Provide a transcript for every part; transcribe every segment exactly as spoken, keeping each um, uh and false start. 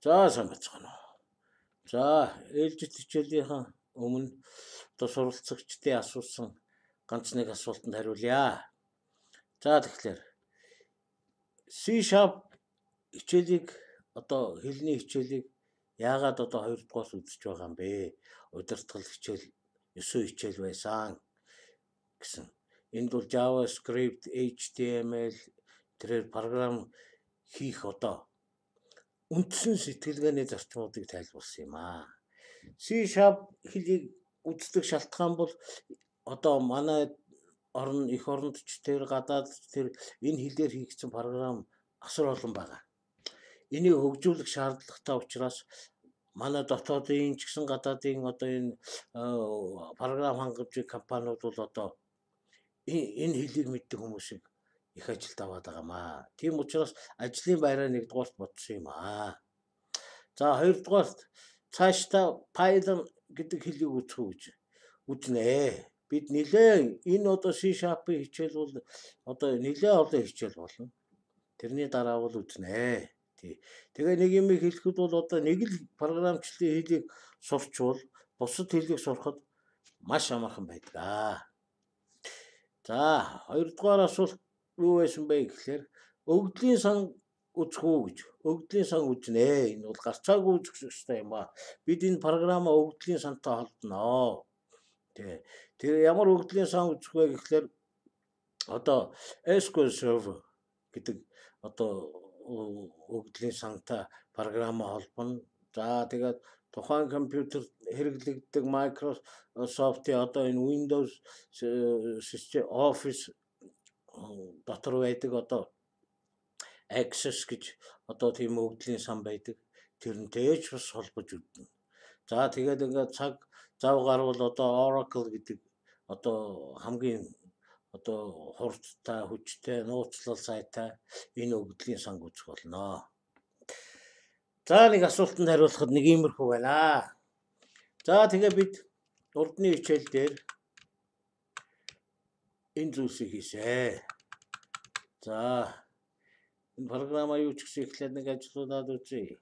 За сайн бацгаана уу. За ээлжид хичээлийнхэн өмнө одоо суралцагчдын асуусан ганц нэг асуултанд хариулъя. За тэгэхээр C# хичээлийг одоо хэлний хичээлийг яагаад одоо хоёр дугаарт үзэж байгаа юм бэ? Удирдгал хичээл ёсоо хичээл байсан гэсэн. Энд бол JavaScript, H T M L тэрээр програм хийх одоо үндсэн сэтгэлгээний зарчмуудыг тайлбарласан юм аа. C# хэлийг үздэг шалтгаан бол одоо манай орн эх оронд ч тэр гадаад тэр энэ хэлээр хийгдсэн програм асар олон байгаа. Энийг хөгжүүлэх шаардлагатай учраас манай дотоодын ч гэсэн гадаадын одоо энэ програм хангамжийн компаниуд бол одоо энэ хэлийг мэддэг хүмүүсийг их ажилд аваад байгаамаа. Тийм учраас ажлын байраа нэгдүгээрт бодсон юм аа. За хоёрдугаарт цаашдаа Python гэдэг хэлийг үзэх үү гэж үзнэ. Бид нэлээ энэ одоо C#-ийн хичээл бол одоо нэлээ олон хичээл болно. Тэрний дараа бол үзнэ. Тий. Тэгээ нэг юм хэлэхэд бол одоо нэг л програмчлалын хэлийг сурчвал бусад хэлийг сурахад маш амархан байдаг. За хоёрдугаар асуулт юу байсан бэ гэхээр өгдлийн сан үзэх үү гэж. Өгдлийн сан үзнэ. Энэ бол гарцаагүй үзэх ёстой юм аа. Бид энэ програмаа өгдлийн сантай холбоно. Тэ. Тэр ямар өгдлийн сан үзэх вэ гэхээр одоо эс ку эль Server гэдэг одоо өгдлийн сантай програмаа холбоно. За тэгээд тухайн компьютерт хэрэглэгддэг Microsoft-ийн одоо энэ Windows систем Office дотор байдаг одоо Access гэж одоо тийм өгдлийн сан байдаг. Тэрнтэй ч бас холбож үзнэ. За тэгээд ингээд цаг зав гарвал одоо Oracle гэдэг одоо хамгийн одоо хурдтай хүчтэй нууцлал сайтай энэ өгдлийн сан үзэх болно. За нэг асуултанд хариулахад нэг иймэрхүү байна. За тэгээ бид урдны хичээл дээр энэ зүйлсийг хийсэ. За энэ програмаа юу ч гэсэн эхлээд нэг ажлуудаад үзье.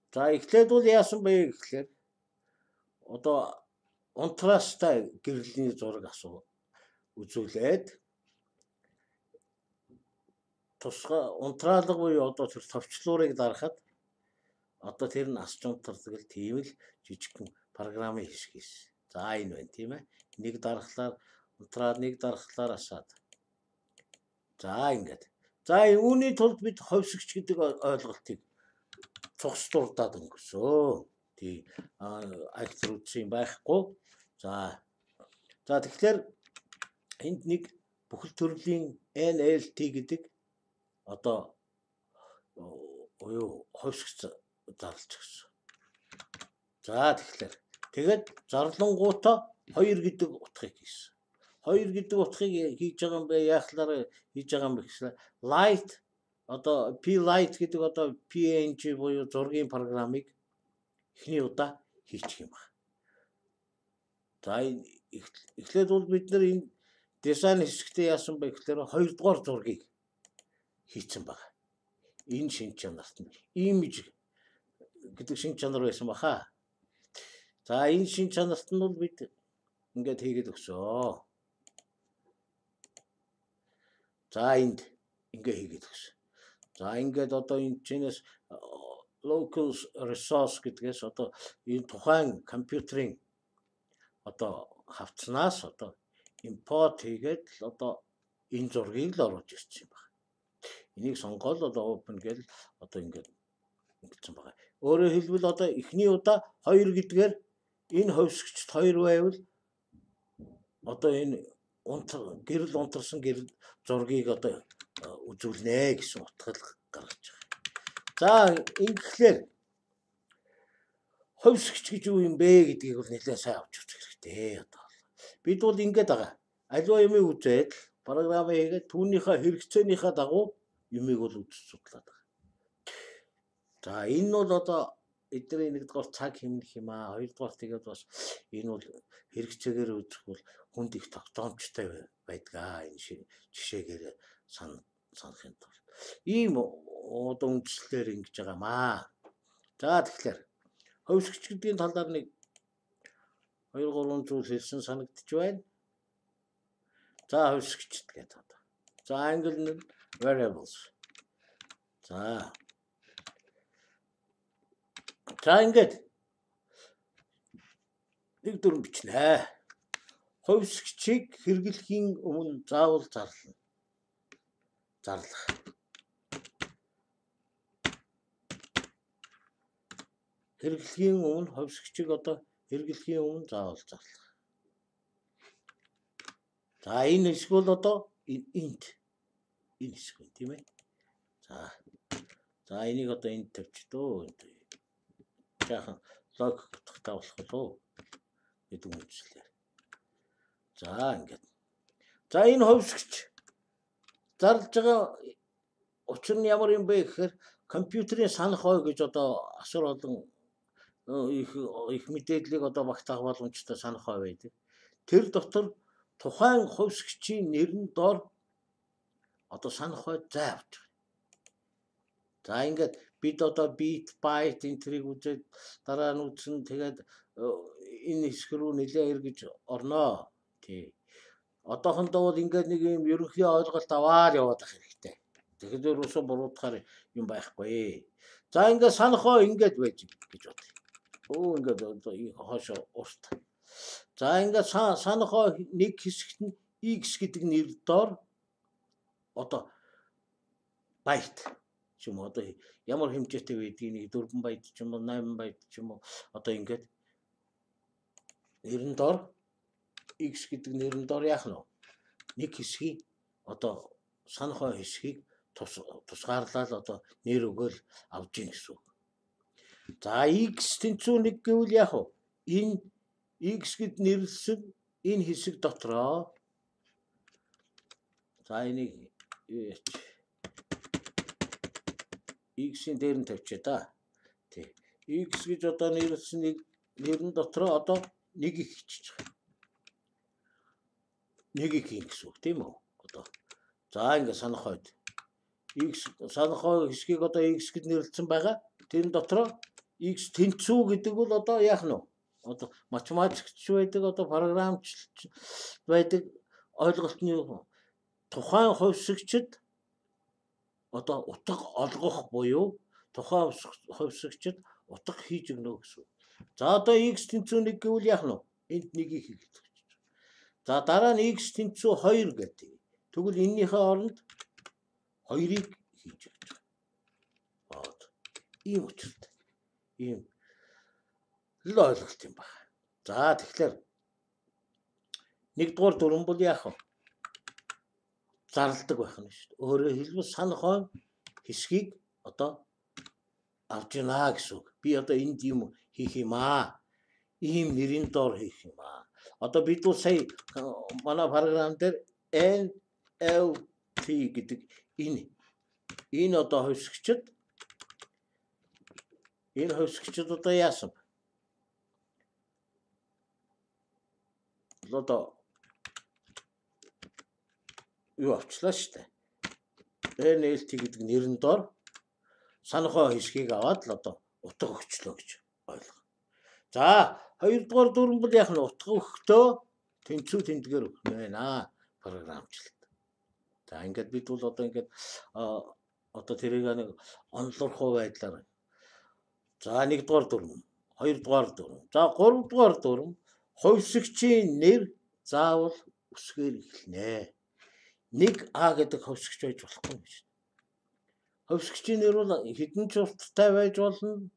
За эхлээд бол яасан бэ гэхээр одоо унтраастай гэрлийн зураг асуу үзүүлээд тусгай унтраалга буюу одоо тэр товчлуурыг дарахад одоо тэр нь асч унтардаг л тийм л жижигхэн програмын хэсэг хийсэн. За энэ байна тийм ээ. Нэг дарахлаар унтраад нэг дарахлаар асаад. За ингээд. За үүний тулд бид ховсгч гэдэг ойлголтыг цогц дурдаад өнгөрсөө. Тий актер үтсэн байхгүй. За. За тэгэхээр энд нэг бүхэл төрлийн N L T гэдэг одоо юу ховсгч зарлж гисэн. За тэгэхээр тэгээд зарлангуудаа хоёр гэдэг утгыг хийсэн. Хоёр гэдэг утгыг хийж байгаа юм бэ? Яахлаар хийж байгаа юм бэ гэхээр light одоо P light гэдэг одоо P N G буюу зургийн програмыг эхний удаа хийчих юм байна. За эхлээд бол бид нар энэ дизайн хэсэгтээ яасан бэ гэхээр хоёрдугаар зургийг хийцэн байна. Энэ шин чанарт нь image гэдэг шин чанар байсан баха. За энэ шин чанарт нь бол бид ингээд хийгээд өгсөө. За энд ингээ хийгээд өгсөн. За ингээд одоо энэ чинээс local resource гэдгээс одоо энэ тухайн компьютерийн одоо хавцнаас одоо import хийгээд одоо энэ зургийг л оруулж ирсэн юм байна. Энийг сонгоод одоо open гэл одоо ингээд ингэсэн байна. Өөрөөр хэлбэл одоо эхний удаа хоёр гэдгээр энэ ховсгчд хоёр байвал одоо энэ гэрэл унтарсан гэрэл зургийг одоо үзүүлнэ гэсэн утгал гаргаж байгаа. За ингэхлээр ховсгч гэж юу юм бэ гэдгийг бол нэлээд сайн авч үзэх хэрэгтэй одоо. Бид бол ингэж байгаа. Аливаа юмыг үзээд програм хийгээд түүнийхээ хэрэгцээнийхээ дагуу юмыг бол үзэж судлаад байгаа. За энэ бол одоо эдний нэгдүгээр цаг хэмнэх юм аа. Хоёрдугаар тэгээд бас энэ бол хэрэгцээгээр үзэх бол хүнд их тогтоомжтой байдаг аа. Энэ жишээгээр санахын тулд ийм одоо үндслэлээр ингэж байгаамаа. За тэгэхээр хөвсгч гэдгийн талаар нэг хоёр гурван зүйл хэлсэн санагдчих байна. За хөвсгчд гэдэг одоо. За англи нь variables. За. За ингээд нэг дүрм бичнэ. Хөвсгчийг хэрэглэхийн өмнө заавал зарлана. Зарлах. Хэрэглэхийн өмнө хөвсгчийг одоо хэрэглэхийн өмнө заавал зарлах. За энэ хэсэг бол одоо энд энэ хэсэг тийм ээ. За. За энийг одоо энд тавьчихдөө. Жаахан логик утгатай болох болов гэдэг үнэлэлээр. За ингээд. За энэ хөвсгч зарлж байгаа учир нь ямар юм бэ гэхээр компьютерийн санах ой гэж одоо асар олон их их мэдээллийг одоо багтаах боломжтой санах ой байдаг. Тэр дотор тухайн хөвсгчийн нэрэн дор одоо санах ой заавч. За ингээд бид одоо bit byte энтрийг үзээд дараа нь үзэн тэгээд энэ хэсэг рүү нэлээ эргэж орноо. Тий. Одоохондоо бол ингээд нэг юм ерөнхий ойлголт аваад яваад ах хэрэгтэй. Тэгэхээр уусаа буруудахаар юм байхгүй. За ингээд санах ой ингээд байж гэж бод. Оо ингээд одоо хоошо урт. За ингээд санах ой нэг хэсэгт нь x гэдэг нэр дор одоо byte ч юм уу одоо ямар хэмжээтэй байдгийг нэг дөрвөн байт ч юм уу найман байт ч юм уу одоо ингээд нэрэн дор x гэдэг нэрэн дор яах нь нэг хэсгийг одоо санах ой хэсгийг тус тусгаарлал одоо нэр өгөөл авж ийн гэсэн. За x тэнцүү нэг гэвэл яах вэ? Энэ x гэд нэрлсэн энэ хэсэг дотроо за энийг x-ийн дээр нь тавьчаа да. Тий. X гэж одоо нэрлсэн нэг нэрэн дотроо одоо нэг их хичиж байгаа. Нэг их хийн гэсэн үг тийм үү? Одоо. За ингээд санах ойд. X санах ой хэсгийг одоо x гэд нэрлсэн байгаа. Тэр дотроо x тэнцүү гэдэг бол одоо яах нь вэ? Одоо математикч байдаг, одоо програмч байдаг ойлголтны тухайн хөвсгчд одоо утга олгох буюу тухайн хөвсгчд утга хийж өгнө гэсэн. За одоо x тэнцүү нэг гэвэл яах нь вэ? Энд нэгийг хийх. За дараа нь x тэнцүү хоёр гэдэг. Тэгвэл энэнийхээ оронд хоёрыг хийж өгч байгаа. Бод. Ийм учиртай. Ийм л ойлголт юм байна. За тэгэхээр нэгдүгээр дүрэн бол яах вэ? Зарладаг байх нь шүү дээ. Өөрөөр хэлбэл санах ой хэсгийг одоо авч яана гэсэн үг. Би одоо энд юм хийх юм аа. Ийм нэрийн доор хийх юм аа. Одоо бид бол сая манай програм дээр N L T гэдэг энэ энэ одоо хөвсгчд энэ хөвсгчд одоо яасан? Одоо юу авчлаа шүү дээ. N L T гэдэг нэрэн дор санах ой хэсгийг аваад л одоо утга өгчлөө гэж ойлго. За хоёрдугаар дүрэн бол яах нь утга өгөхдөө тэнцүү тэмдгээр өгнө байна програмчлалт. За ингээд бид бол одоо ингээд одоо тэрийг нэг онлорхоо байдлаар. За нэгдүгээр дүрэн, хоёрдугаар дүрэн. За гуравдугаар дүрэн хөвсгчийн нэр заавал үсгээр эхэлнэ. Нэг А гэдэг хөвсгч байж болохгүй юм шүү. Хөвсгчийн нэр бол хэдэн ч урттай байж болно.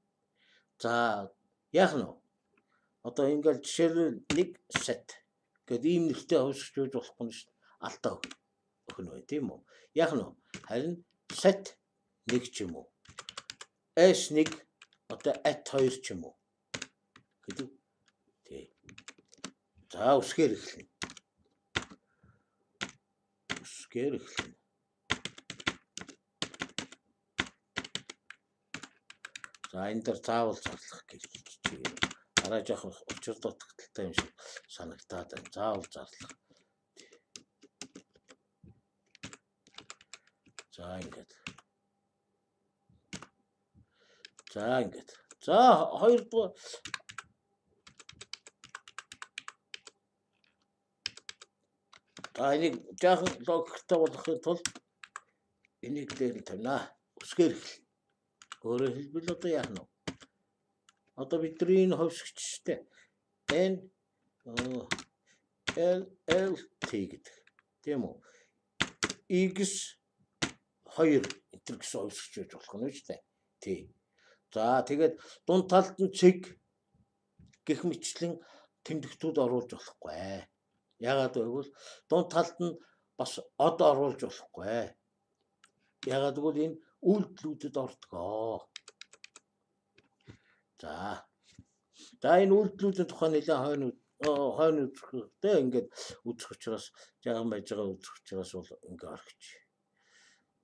За яах нь вэ? Одоо ингээл жишээлбэл нэг set гэдэг ийм нэртэй хөвсгч байж болохгүй юм шүү. Алтаа өгнө бай тийм үү? Яах нь вэ? Харин set нэг ч юм уу. S нэг одоо at хоёр ч юм уу. Гэдэг. Тий. За үсгээр эхэлнэ. Үсгээр эхэлнэ. За энэ дээр заавал зарлах гэж чинь. Арай жоох учир дутагдaltaй юм шиг санагтаад байна. Заавал зарлах. За ингээд. За ингээд. За хоёрдугаар та энийг жаахан логиктой болгохын тулд энийг дээр нь тавина. Үсгээр хэл. Өөрөөр хэлбэл одоо яах нь вэ? Одоо бидний энэ ховсгчтэй N L L T гэдэг. Тийм үү? X хоёр энэ гэсэн ховсгч байж болох нь шүү дээ. T. За тэгээд дунд талд нь цэг гэх мэтлэн тэмдэгтүүд оруулж болохгүй. Яагаад гэвэл дунд талд нь бас од оруулж болохгүй. Яагаад гэвэл энэ үйлдэлүүдэд ордгоо. За. За энэ үйлдэлүүдийн тухай нэлээд хойно хойно үзэхтэй ингээд үзэх учраас жаахан байж байгаа үзэх учраас бол ингээд орхич.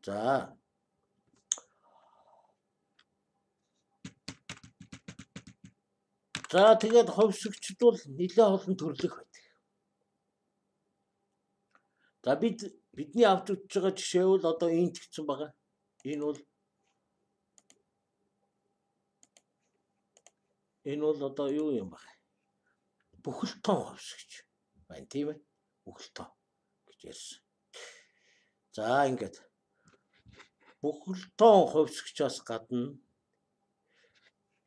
За. За тэгээд ховсгчд бол нэлээд олон төрлөх байдаг. За бид бидний авч үзэж байгаа жишээ бол одоо энд гэсэн байгаа. Энэ бол энэ бол одоо юу юм бэ? Бүхэлтон ховсгч байна тийм ээ. Бүхэлтон гэж ярьсан. За ингээд бүхэлтон ховсгчаас гадна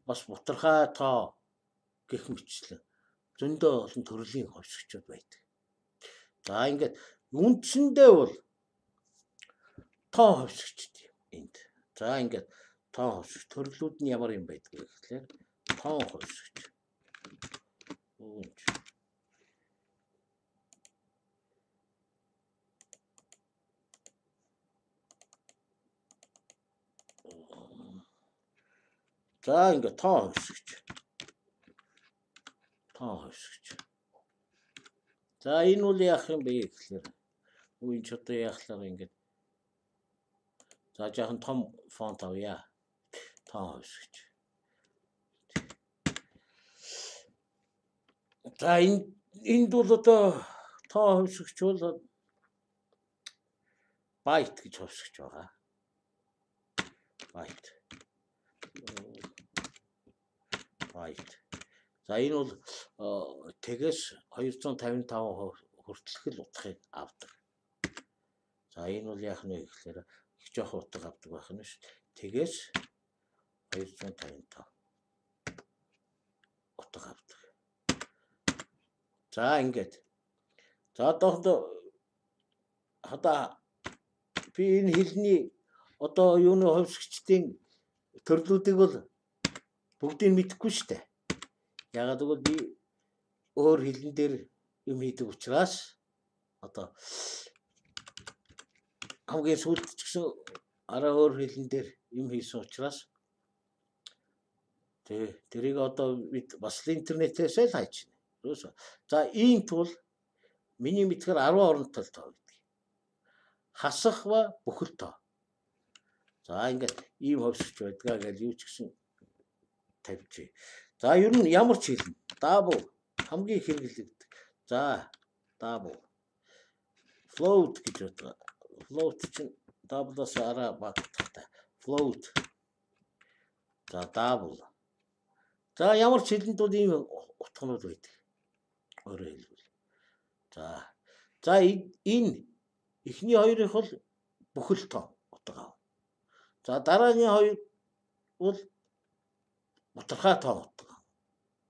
бас бутархай тоо гэх мэтлэн зөндөө олон төрлийн ховсгчуд байдаг. За ингээд үндсэндээ бол тоо ховсгчд юм энд. За ингээд тоо ховсгч төрлүүд нь ямар юм байдгийг гэхлээр тоо ховсгч. Үүнч. За ингээд тоо ховсгч. Тоо ховсгч. За энэ үл яах юм бэ гэхлээр үн ч одоо яахлаар ингээд за жаахан том фонт авъя. Тоо ховсгч. За энэ энд бол одоо тоо ховсгч бол байт гэж ховсгч байгаа. Байт. Байт. За энэ бол тэгээс двести пятьдесят пять хүртэлх л утгыг авдаг. За энэ бол яах нь вэ гэхээр их жоох утга авдаг байх нь ш. Тэгээс двести пятьдесят пять утга авдаг. За ингээд. За одоо хада би энэ хэлний одоо юуны ховсгчдын төрлүүдийг бол бүгдийг мэдэхгүй шүү дээ. Ягаад гэвэл би өөр хэлэн дээр юм хийдэг учраас одоо хамгийн сүүлд ч гэсэн араа өөр хэлэн дээр юм хийсэн учраас тэг тэрийг одоо бид бас интернетээс л хайж байна. За ийм тул миний мэдхээр десять оронтой тоо гэдэг. Хасах ба бүхэл тоо. За ингээд ийм ховсгч байдгаа гэж юу ч гэсэн тавьчих. За ер нь ямар ч хэлнэ. Double хамгийн хэрэглэгддэг. За double. Float гэж байна. Float чинь double-аас арай багтахтай. Float. За double. За ямар ч хэлэнд бол ийм утганууд байдаг. Өөрөөр хэлбэл. За. За энэ эхний хоёрыг бол бүхэл тоо утга. За дараагийн хоёр бол бутархай тоо утга.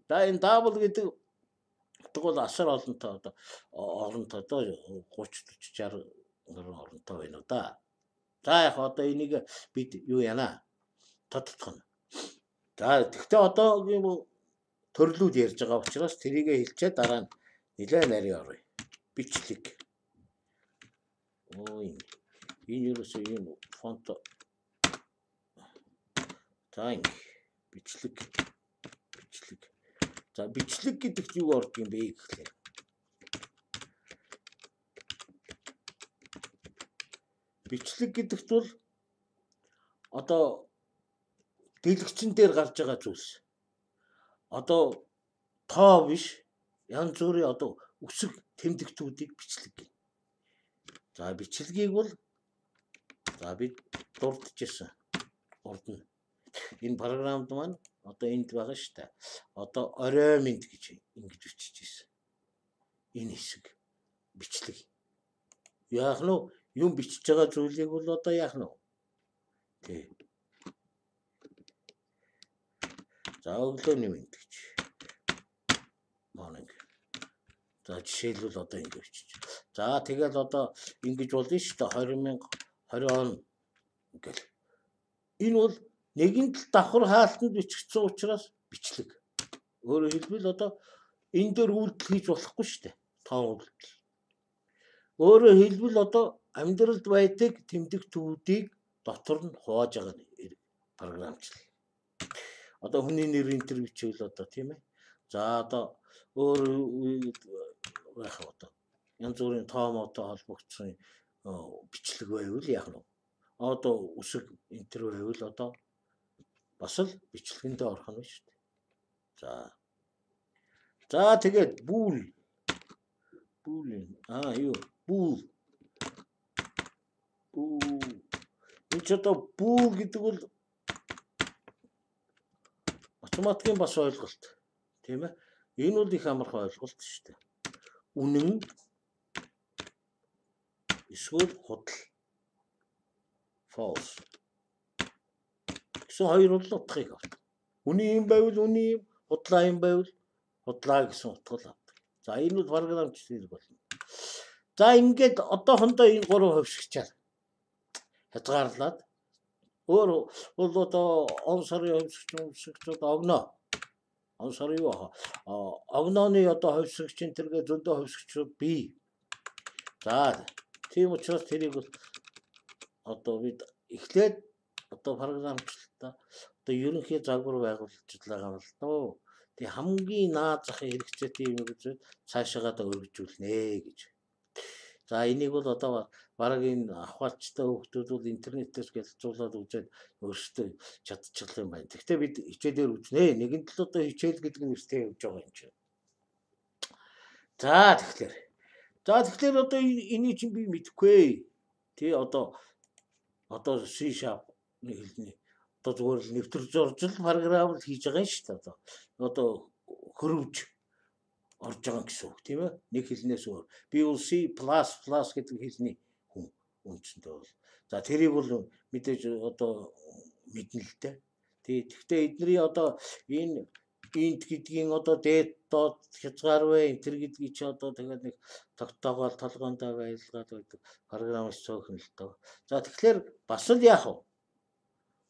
За энэ double гэдэг утга бол асар олонтой одоо олонтой одоо тридцать шестьдесят оронтой байна уу да. За яг одоо энийг бид юу яана? Тодтох нь. За тэгтээ одоогийн төрлүүд ярьж байгаа учраас тэрийг хэлчихэд дараа нь нэлээд нарийн орё. Бичлэг. Ой. Энэ юусэн юм фонт. За ингэ бичлэг. Бичлэг. За бичлэг гэдэгт юу ордог юм бэ гэхлээр. Бичлэг гэдэгт бол одоо дэлгэцэн дээр гарч байгаа зүйлс. Одоо тоо биш янз бүрийн одоо үсэг тэмдэгтүүдийг бичлэг гэнэ. За бичлэгийг бол за бид дурдчихсан. Урд нь. Энэ програмд маань одоо энд байгаа шүү дээ. Одоо орой минь гэж ингэж бичиж ирсэн. Энэ хэсэг бичлэг. Яах нь юм бичиж байгаа зүйлийг бол одоо яах нь вэ? Тий. За өглөөний минь гэж. Morning. За жишээлбэл одоо ингэ бичиж. За тэгэл одоо ингэж болно шүү дээ. двадцать мянга двадцать он гэл. Энэ бол нэгэн тал давхар хаалтанд бичигдсэн учраас бичлэг. Өөрөөр хэлбэл одоо энэ дээр үйлдэл хийж болохгүй шүү дээ. Тоон үйлдэл. Өөрөөр хэлбэл одоо амьдралд байдаг тэмдэгтүүдийг дотор нь хувааж байгаа програмчлал. Одоо хүний нэр энтер бичвэл одоо тийм ээ. За одоо өөр яах вэ одоо янз бүрийн тоомоотой холбогдсон бичлэг байвал яах нь вэ? Одоо үсэг энтер байвал одоо бас л бичлэгэндээ орох нь шүү дээ. За. За тэгээд бүүл бүүл аа юу бүүл бүүл энэ ч одоо бүүл гэдэг бол математикийн бас ойлголт тийм ээ. Энэ бол их амархан ойлголт шүү дээ. Үнэн эсвэл худал false гэсэн хоёр бол утгыг авдаг. Үний юм байвал үний юм, худлаа юм байвал худлаа гэсэн утга авдаг. За энэ бол програмч зэрэг болно. За ингээд одоохондоо энэ гурван хувьсгчаар хязгаарлаад өөр бол одоо он сарын хувьсгч хувьсгчуд огноо. Он сарын юу аа огнооны одоо хувьсгчийн тэргээ зөндөө хувьсгчуд бий. За тийм учраас тэрийг бол одоо бид эхлээд одоо програмчлалтаа одоо ерөнхий загвар байгуулж байгаа юм л доо. Тэг хамгийн наад зах хэрэгцээтэй юм гэж цаашаагаа өргөжүүлнэ гэж. За энийг бол одоо бараг энэ ахвалчтай хүмүүс бол интернетээс гэлцүүлээд үзээд өөрсдөө чадчихлаа юм байна. Гэхдээ бид хичээлээр үзнэ. Нэгэн тал одоо хичээл гэдэг нь нэртэй явж байгаа юм чинь. За тэгэхээр. За тэгэхээр одоо энийг чинь би мэдэхгүй. Тэ одоо одоо C# хэлний одоо зүгээр л нэвтэр зуржил програм хийж байгаа юм шүү дээ. Одоо одоо хөрвж орж байгаа гэсэн үг тийм ээ. Нэг хэлнээс өөр. Би бол C++ гэдэг хэлний хүн үндсэндээ бол. За тэрийг бол мэдээж одоо мэднэ л дээ. Тэгэхдээ эдний одоо энэ int гэдгийн одоо date dot хязгаарвэ энэ гэдгийг чи одоо тэгээд нэг тогтоогоол толгоондоо байлгаад байдаг програмч цөөхөн л доо. За тэгэхээр бас л яах вэ?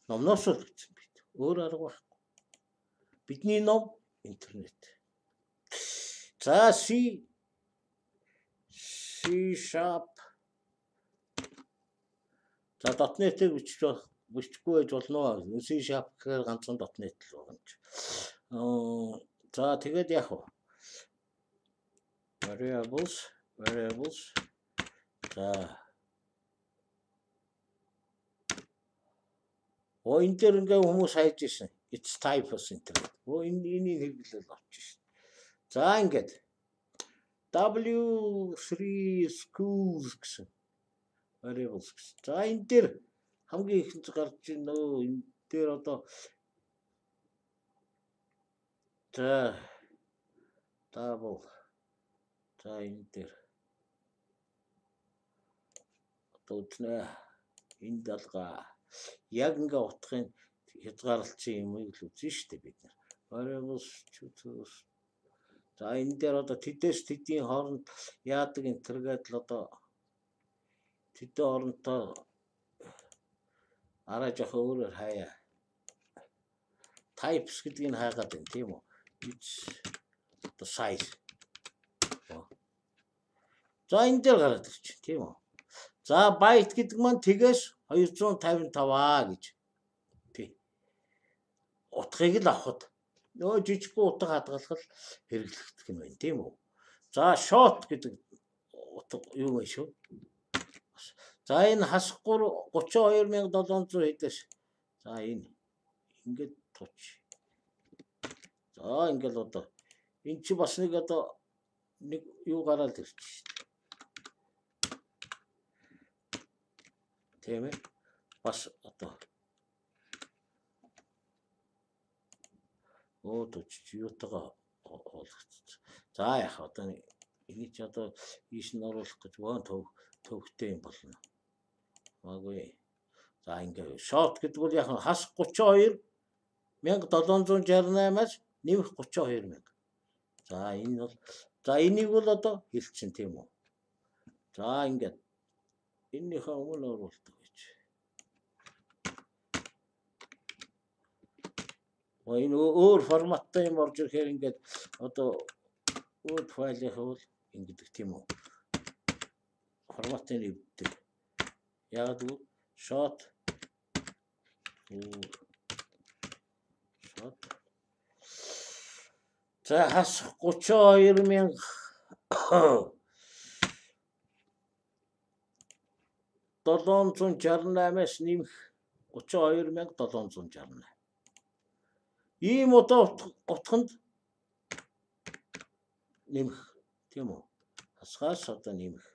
Номноос л гэсэн бид. Өөр арга байхгүй. Бидний ном интернет. За C C sharp. За .net-ийг бичиж бичихгүй байж болно. C sharp гэхээр ганцхан .net л байгаа юм чи. Аа за тэгээд яах вэ? Variables variables. За Оо энэ дээр ингээ хүмүүс хайж ирсэн. It's type of internet. Оо энэ энийг хэрэглэл авчих шин. За ингээд W three schools гэсэн variables гэсэн. За энэ дээр хамгийн ихэнд гарч ийн нөө энэ дээр одоо за double за энэ дээр одоо үзнэ энэ далга яг ингээ утгын хязгаарлалцсан юмыг л үзэн штэ бид нар. Variables за энэ дээр одоо тэдээс тэдийн хооронд яадаг энэ тэргээд л одоо тэдэн хоорондоо арай жоох өөрөөр хаяа. Types гэдгийг хаагаад байна тийм үү? It's the size. За энэ дээр гараад ирчих тийм үү? За byte гэдэг маань тэгээс two fifty-five гэж. Тий. Утгыг л авахд нөө жижигхэн утга хадгалах хэрэглэгдэх юм байна тийм үү? За short гэдэг утга юу вэ шүү? За энэ хасахгүй thirty-two thousand seven hundred хэдэж. За энэ ингээд туч. За ингээл одоо энэ чи бас нэг одоо нэг юу гараад ирчих шүү дээ. Тийм ээ. Бас одоо Оо дочч юутайгаа олгоцсон. За яах одоо энийг ч одоо ийш нь оруулах гэж вон төв төвхтэй юм болно. Маггүй. За ингээ шот гэдэг бол яг хас тридцать two мянга seven six eight-аас нэмэх тридцать two мянга. За энэ бол за энийг бол одоо хэлчихин тийм үү. За ингээд энийхээ өмнө оруулдаг гэж. Оо энэ өөр форматтай юм орж ирэхээр ингээд одоо Word файлын хавал ингэдэг тийм үү. Форматын өвддөг. Яг л shot shot за хас тридцать two мянга seven sixty-eight-аас нэмэх тридцать two мянга seven sixty-eight. Ийм одоо утганд нэмэх тийм үү. Хасгаас одоо нэмэх.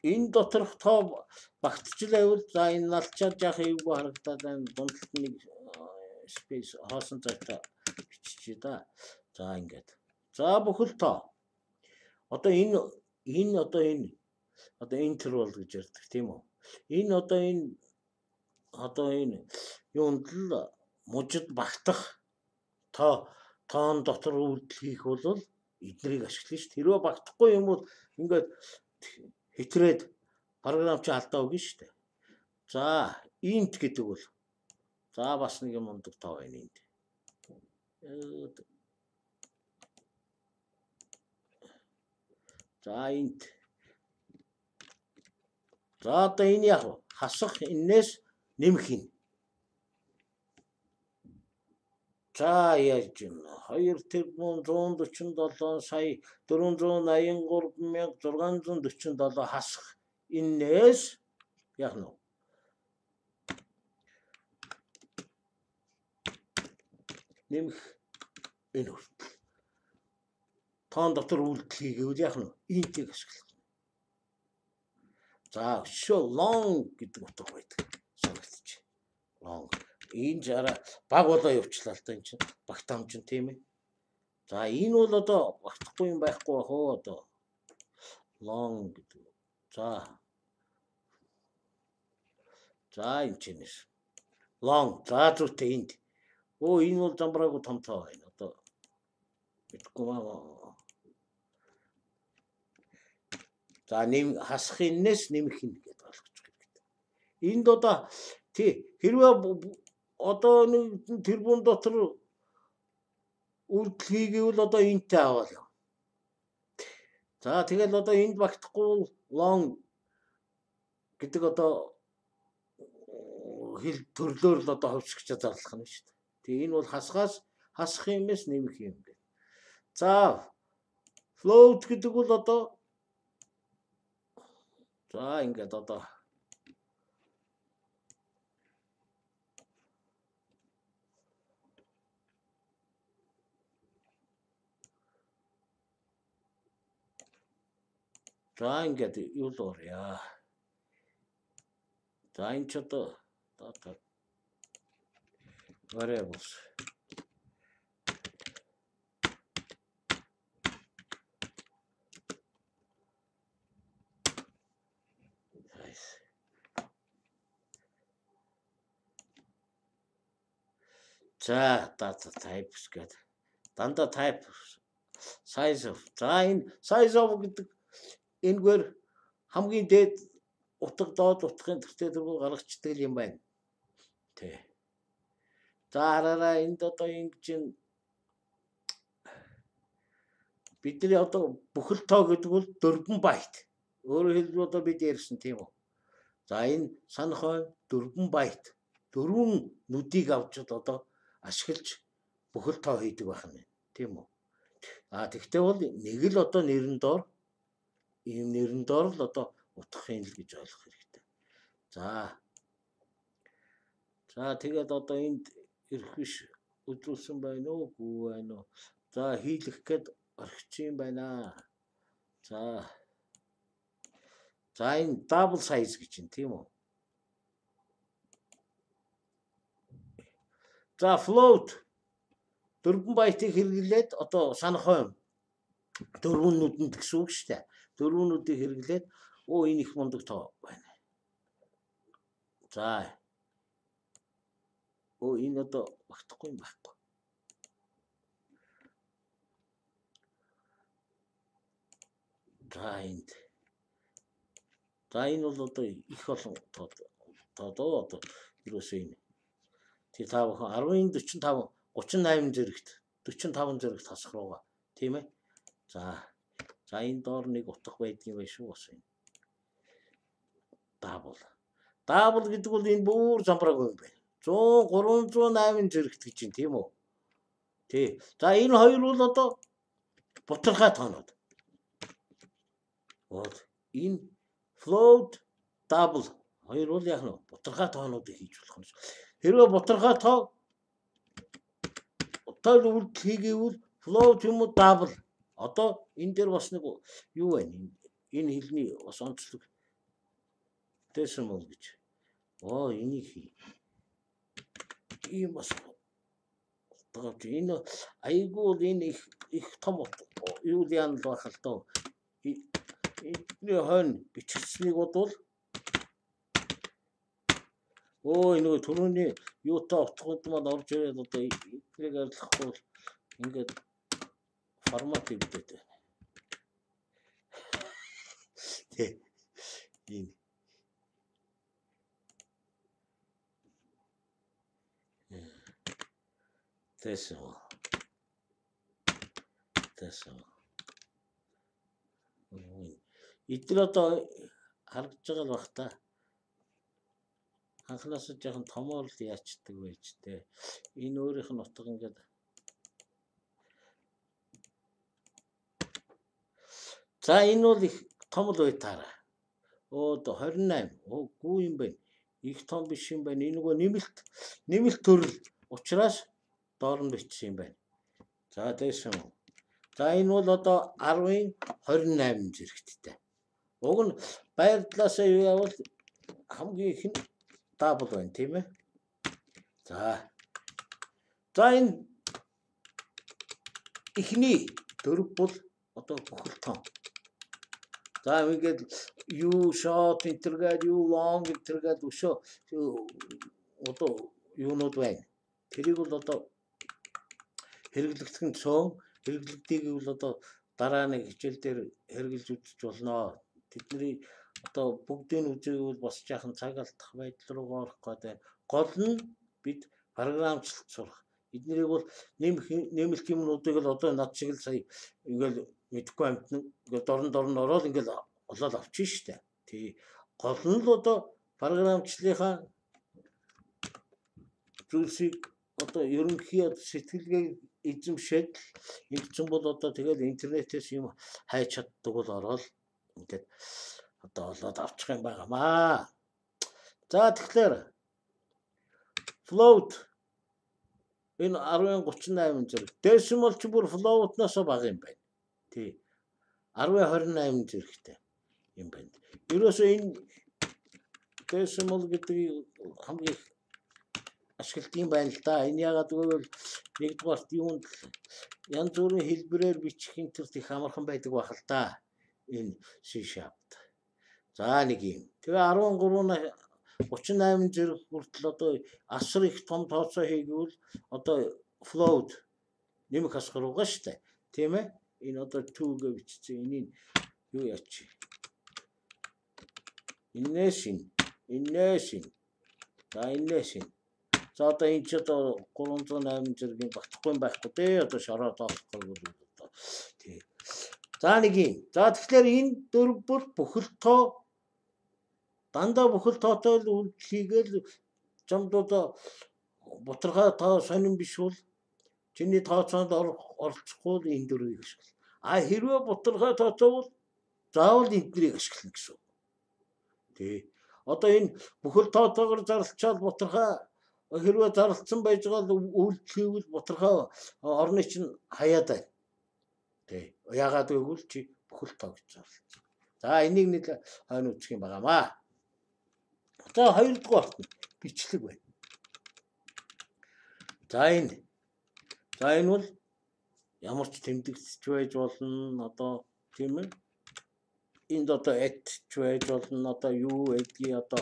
Энэ доторх тоо багтчихлаа за энэ налчаад яах эвгүй харагдаад байна. Дундалт нэг space хоосон цаатаа биччихье да. За ингээд. За бүхэл тоо. Одоо энэ энэ одоо энэ одоо интервал гэж ярьдаг тийм үү. Энэ одоо энэ одоо энэ юунд л мужид багтах тоо тоон дотор үйлдэл хийх бол эднийг ашиглана шүү. Тэрөө багтахгүй юм бол ингээд хэтрээд програм чи алдаа өгнө шүү дээ. За int гэдэг бол за бас нэг юм ундаг тоо байна энд. За int за одоо энэ яг хасах энэс нэмэх юм. За яаж юм two тэрбум one forty-seven сая four eighty-three мянга six forty-seven хасах энэс яг нь нэмэх энэ хүртэл тоон дотор үйлдэл хийгээвэл яг нь интийг ашиглах. За show long гэдэг утга байдаг. Санагдчих. Long. Энэ жара баг болоо явуулчлаа л та энэ чинь багтаам чинь тийм ээ. За энэ бол одоо багтахгүй юм байхгүй хоо одоо long гэдэг. За. За энэ чинь long за зүгтээ энд. Оо энэ бол замбраагүй том тоо байна. Одоо мэдгүй маа. За нэм хасах энэс нэмэх юм гэдэг ойлгож байна. Энд одоо тий хэрвээ одоо нэг тэрбум дотор үйлдэл хийгээвэл одоо энтэй аваад яв. За тэгэл одоо энд багтахгүй long гэдэг одоо хэл төрлөөр л одоо хөвсгч зарлах нь шүү дээ. Тэг энэ бол хасгаас хасах юмээс нэмэх юм гэдэг. За float гэдэг бол одоо за ингээд одоо за ингээд юу л орё. За энэ ч одоо дата variables за data types гэдэг. Дандаа type size of. За энэ size of гэдэг энэгээр хамгийн дээд утга доод утгын төртөө дөрвөө гаргацдаг юм байна. Тэ. За хараараа энд одоо ингэж бидний одоо бүхэл тоо гэдэг бол four байт. Өөрөөр хэлбэл одоо бид ярьсан тийм үү. За энэ санах бай four байт. Дөрвөн нүдийг авч одоо ашиглаж бүхэл тоо хийдэг байх юм. Тийм үү. А тэгтээ бол нэг л одоо нэрэн доор ийм нэрэн доор л одоо утгахын л гэж ойлгох хэрэгтэй. За. За тэгээд одоо энд ирэх биш үзүүлсэн байна уу? Гүү байна уу? За хийлэх гээд орхиж юм байна. За. За энэ double size гэж юм тийм үү? За float дөрвөн байтыг хэрэглээд одоо санахой дөрвөн нүдэнд гэсэн үг шүү дээ. Дөрвөн нүдийг хэрэглээд оо энэ их мундаг тоо байна. За. Оо энэ одоо багтахгүй юм байхгүй. За энд. За энэ бол одоо их олон тоо тоо одоо юусоо энэ. Тэг та бүхэн арван45гучин восемь зэрэгт forty five зэрэгт хасах руугаа тийм ээ. За. За энэ доор нэг утга байдгийн байх шүү бас энэ. Double. Double гэдэг бол энэ бүр замбрааг юм байна. one hundred three hundred eight зэрэгт гэж юм тийм үү? Тий. За энэ хоёр бол одоо бутархай тоонууд. Вот энэ float double хоёр бол яг нь бутархай тоонуудыг хийж болох юм. Хэрвээ бутархай тоо тоо үйлдэл хийгээвэл float юм уу double. Одоо энэ дээр бас нэг юу байна? Энэ хэлний бас онцлог decimal гэж. Оо энийг хий. Ийм бас одоо энэ айгуул энэ их их том юу яан л байх л доо. Эний хойно бичигдсэнийг бодвол оо энэ түрүүний юутай утгууд маань орж ирээд одоо энийг арилгахгүй ингээд формат хийгээд байна. Тэ. Энэ Decimal. Decimal. Эдгээр одоо харагдж байгаа л бах та. Анхнаас нь жоохон томоор л яачдаг байж тээ. Энэ өөрийнх нь утга ингээд за энэ бол их том л байтаараа. Оо twenty-eight. Оо гүү юм байна. Их том биш юм байна. Энэ нөгөө нэмэлт нэмэлт төрөл учраас доор нь бичсэн юм байна. За дэсэн. За энэ бол одоо ten twenty-eight зэрэгттэй. Уг нь байр талаасаа юу явал хамгийн их нь double байна тийм ээ. За. За энэ ихний дөрв бол одоо бүхэл том. За ингээд юу short интергээд юу long интергээд өшөө одоо юунууд байна. Тэрийг бол одоо хэрэглэгдэх нь цөөн хэрэглэгдгийг бол одоо дараа нэг хичээл дээр хэрэгжилж үзэж болно. Тэдний одоо бүгдийн үзээг бол бас жаахан цаг алдах байдал руу орох гэдэг. Гол нь бид програмчлалт сурах. Эднэрийг бол нэмэх нэмэлт юмнуудыг л одоо над шиг л сая ингээл мэдхгүй амтна ингээл дорн дорн ороод ингээл олоод авчих штэ. Тий. Гол нь л одоо програмчлалынхаа зүйлсийг одоо ерөнхий сэтгэлгээ эзэмшээд ингэсэн бол одоо тэгэл интернетээс юм хайж чаддаг бол ороод ингээд одоо олоод авчих юм байгаамаа. За тэгэхээр float энэ ten thirty-eight зэрэг decimal ч бүр float-ноос бага юм байна. Тий. ten twenty-eight зэрэгтэй юм байна. Ерөөсөө энэ decimal гэдэг хамгийн ашиглалт юм байна л да. Энэ ягаад гэвэл нэгдүгээрт юунд янз бүрийн хэлбэрээр бичих интер их амархан байдаг байх л да. Энэ C sharp. За нэг юм. Тэгээ thirteen thirty-eight зэрэг хүртэл одоо асар их том тооцоо хийгүүл одоо float нэмэх асгаруугаа штэ. Тийм ээ? Энэ одоо two гэж бичсэн. Энийг юу яач? Инээс ин. Инээс ин. За инээс ин. За одоо энэ ч одоо three oh eight зэргийн багтахгүй байхгүй дээ. Одоо шороо тоолохгүй бол одоо тий. За нэг юм. За тэгэхээр энэ дөрв бол бүхэл тоо дандаа бүхэл тоотой л үйлчлэгээл зомдоо бутархай тоо сонирн биш бол чиний тооцоонд оролцохгүй энэ дөрвийг ашигла. А хэрвээ бутархай тооцоо бол заавал эднийг ашиглана гэсэн. Тий. Одоо энэ бүхэл тоотойгоор зарлчаал бутархай хэрвээ зарлцсан байж байгаа үйлчлэвэл бутархай орны чинь хаяад байна. Тий. Яагаад гэвэл чи бүхэл тоо гэж зарлцсан. За энийг нэг хойно үзэх юм байгаамаа. За хоёрдугаарт бичлэг байна. За энэ. За энэ бол ямар ч тэмдэгч байж болно одоо тийм ээ. Энд одоо этч байж болно одоо юу гэдгийг одоо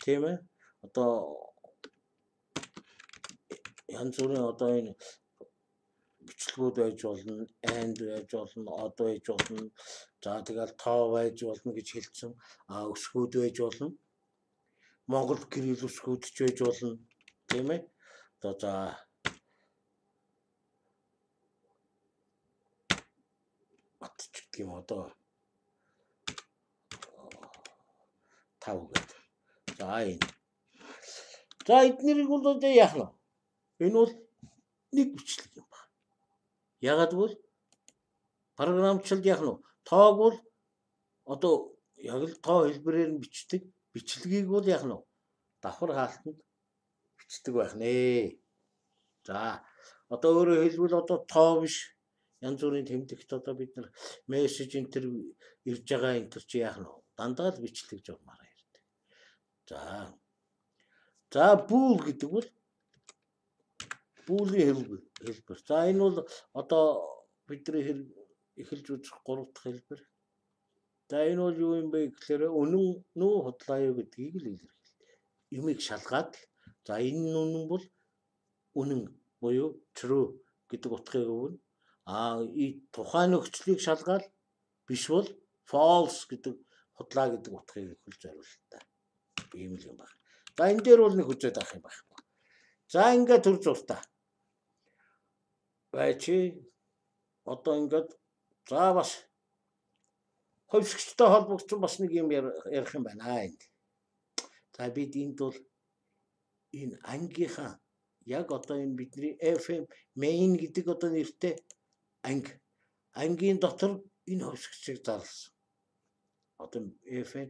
тийм ээ. Одоо янз бүрийн одоо энэ бичлэгүүд байж болно, and байж болно, од байж болно. За тэгэл тоо байж болно гэж хэлсэн. А өсгүүд байж болно. Монгол гэрэл өсгүүд ч байж болно. Тийм ээ. Одоо за атч гэдэг юм одоо тав гэдэг. За энэ. За эднэрийг бол одоо яах вэ? Энэ бол нэг бичлэг юм байна. Ягаад гэвэл програмчлалд яах нь тоог бол одоо яг л тоо хэлбэрээр нь бичдэг. Бичлэгийг бол яах нь давхар хаалтанд бичдэг байх нэ. За одоо өөрөөр хэлбэл одоо тоо биш янз бүрийн тэмдэгт одоо бид нар мессеж энтер ирж байгаа энтер чи яах нь дандаа л бичлэг журмаар ярьдаг. За. За бүүл гэдэг бол бүүлийн хэлбэр. За энэ бол одоо бидний эхэлж үзэх гурав дахь хэлбэр. За энэ бол юу юм бэ гэхээр үнэн нүү худлаа юу гэдгийг л илэрхийлдэг. Юмыг шалгаад за энэ үнэн бол үнэн буюу true гэдэг утгыг өгнө. А и тухайн нөхцөлийг шалгаад биш бол false гэдэг худлаа гэдэг утгыг өгөх зорилттой. Ийм л юм байна. За энэ дээр бол нэг хүчээд авах юм байна. За ингээд төр зуртаа. Бачи одоо ингээд за бас хөвсгчтэй холбогдсон бас нэг юм ярих юм байна энд. За бид энд бол энэ ангийнхаа яг одоо энэ бидний эф эм main гэдэг одоо нэртэй анги ангийн дотор энэ хөвсгчийг зарласан. Одоо эф эм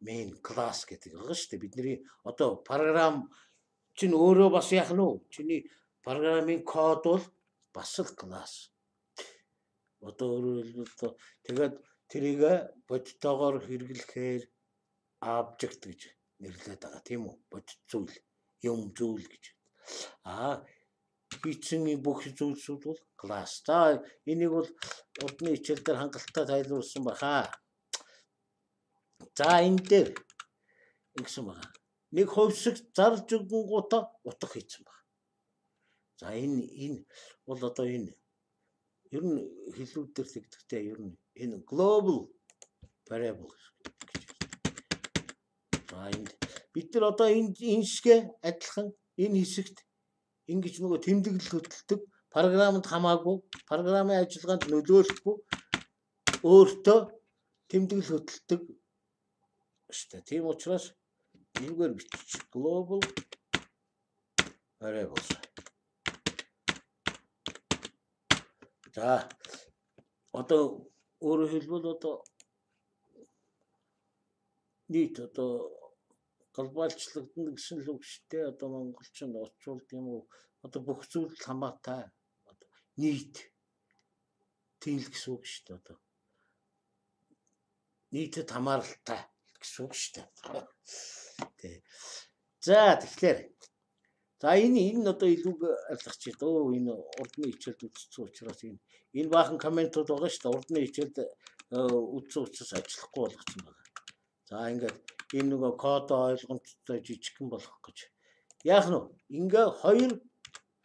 main class гэдэг байгаа шүү дээ. Бидний одоо програм чинь өөрөө бас яах нь вэ? Чиний програмын код бол бас л класс. Одоо өөрөөр хэлбэл тэгээд тэрийг бодтойгоор хэрэглэхээр object гэж нэрлэдэг байгаа тийм үү? Бодит зүйл, юм зүйл гэж. Аа бичсэн бүх зүйлсүүд бол класс. За энийг бол урдны хичээл дээр хангалттай тайлбарласан баха. За энэ дээр ингэсэн байна. Нэг хөвсөг зарлж өгөнгүүтээ утга хийсэн байна. За энэ энэ бол одоо энэ ер нь хэлүүд дээр тэгдэхтэй ер нь энэ global variable гэж. За энэ бид нар одоо энэ энэ шигэ адилхан энэ хэсэгт ингэж нөгөө тэмдэглэл хөтэлдэг програмд хамаагүй програмын ажиллагаанд нөлөөлөхгүй өөртөө тэмдэглэл хөтэлдэг шүү дээ. Тийм учраас энэгээр бичиж global variables. За одоо өөрөөр хэлбэл одоо нийт одоо глобалчлагдана гэсэн л үг шүү дээ. Одоо монголчин орчуулд юм уу? Одоо бүх зүйл хамаатай одоо нийт тийм л гэсэн үг шүү дээ. Одоо нийтэд хамааралтай гэсэн үг шүү дээ. Тэ. За тэгэхээр за энэ энэ одоо илүү арилгач дөө энэ урдны хичээлд үзсэн учраас энэ энэ баахан комментууд байгаа шүү дээ. Урдны хичээлд үзсэн учраас ажиллахгүй болгосон байна. За ингээд энэ нөгөө код ойлгомжтой жижигхэн болгох гэж. Яах нь ингээ хоёр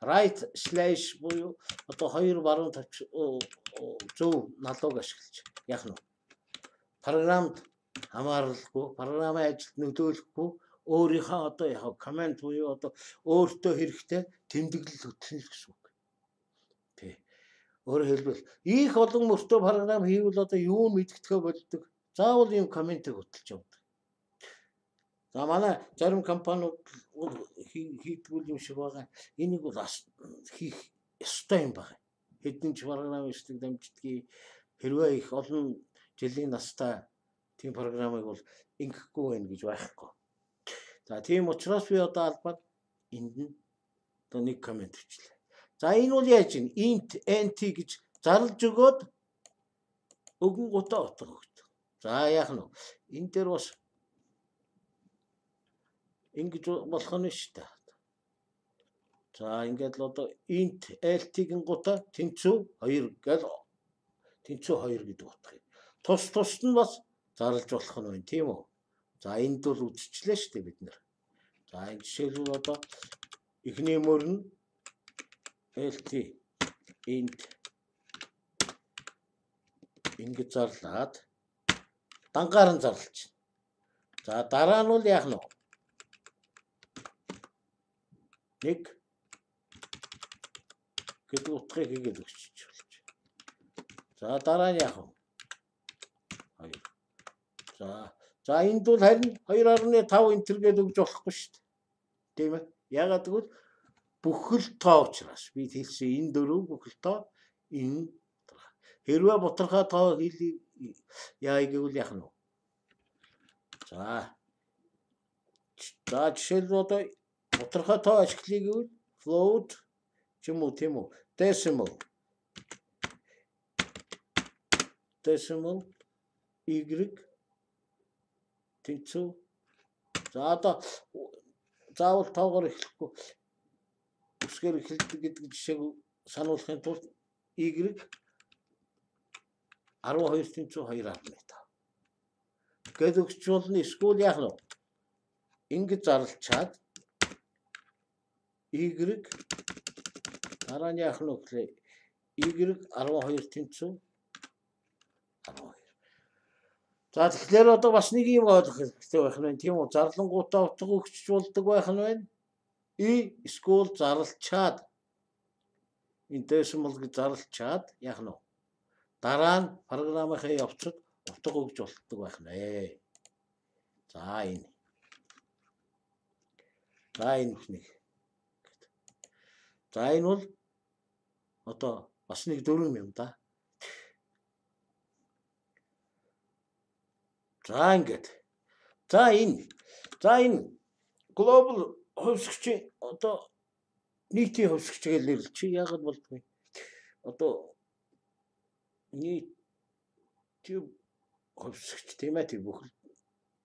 right slash буюу одоо хоёр баруун тавч зөв налууг ашиглаж яах нь програмд хамааралгүй програмын ажилд нөлөөлөхгүй өөрийнхөө одоо яг команд буюу одоо өөртөө хэрэгтэй тэмдэглэл хөтлөн л гэсэн үг. Тэ. Өөрөөр хэлбэл их олон мөртөө програм хийвэл одоо юу мэддэхээ болдог. Заавал ийм комментиг хөтлж явдаг. За манай зарим компаниуд хийдгүүл юм шиг байгаа. Энийг бол хийх ёстой юм байна. Хэдэн ч програм хийдэг дамждгийг хэрвээ их олон жилийн настай тийм програмыг бол ингэхгүй байх гэж байхгүй. За тийм учраас би одоо албад энд нь одоо нэг коммент хийлээ. За энэ бол яаж юм? Int nt гэж зарлж өгөөд өгөн гутаа утга өгдөг. За яах нь вэ? Энэ дээр бас ингэж болох нь шүү дээ. За ингээд л одоо int lt-ийн гутаа тэнцүү хоёр гэл тэнцүү хоёр гэдэг утга юм. Тус тусд нь бас зарлж болох нь байна тийм үү? За энд бол үдчихлээ шүү дээ бид нэр. За энэ жишээлбэл одоо эхний мөр нь lt int ингэж зарлаад дангаар нь зарлж. За дараа нь бол яах нь вэ? Нэг гэдэг утгыг хийгээд өгч болж. За дараа нь яах вэ? хоёр. За за энд бол харин two point five энтер гээд өгж болохгүй шүү дээ. Тийм ээ. Ягаад гэвэл бүхэл тоо учраас би хэлсэн энэ дөрөв бүхэл тоо энэ хэрвээ бутархай тоо хэлийг яа гэвэл яах нь вэ? За за жишээлбэл одоо бутархай тоо ашиглая гэвэл float ч юм уу тийм үү? Decimal decimal y тэнцүү. За одоо заавал тоогоор эхлэхгүй үсгээр эхэлдэг гэдэг жишээг сануулахын тулд y twelve тэнцүү two point five. Гэт өгч болно эсвэл яах нь вэ? Ингэж зарлчаад y дараа нь яах нь вэ гэхлээр y twelve тэнцүү twelve. За тэгэхээр одоо бас нэг юм ойлгох хэрэгтэй байх нь тийм үү? Зарлангуудаа утга өгч болдог байх нь байна. И эсвэл зарлчаад энэ decimal гэж зарлчаад яах нь вэ? Дараа нь програмынхаа явцад утга өгж болдог байх нэ. За энэ. За энэ нэг. За энэ бол одоо бас нэг дөрвөн юм да. За ингээд. За энэ. За энэ global хувьсгчийн одоо нийтийн хувьсгч гэж нэрлэж яагаад болдгоо. Одоо нийт хувьсгч тийм ээ бүхэл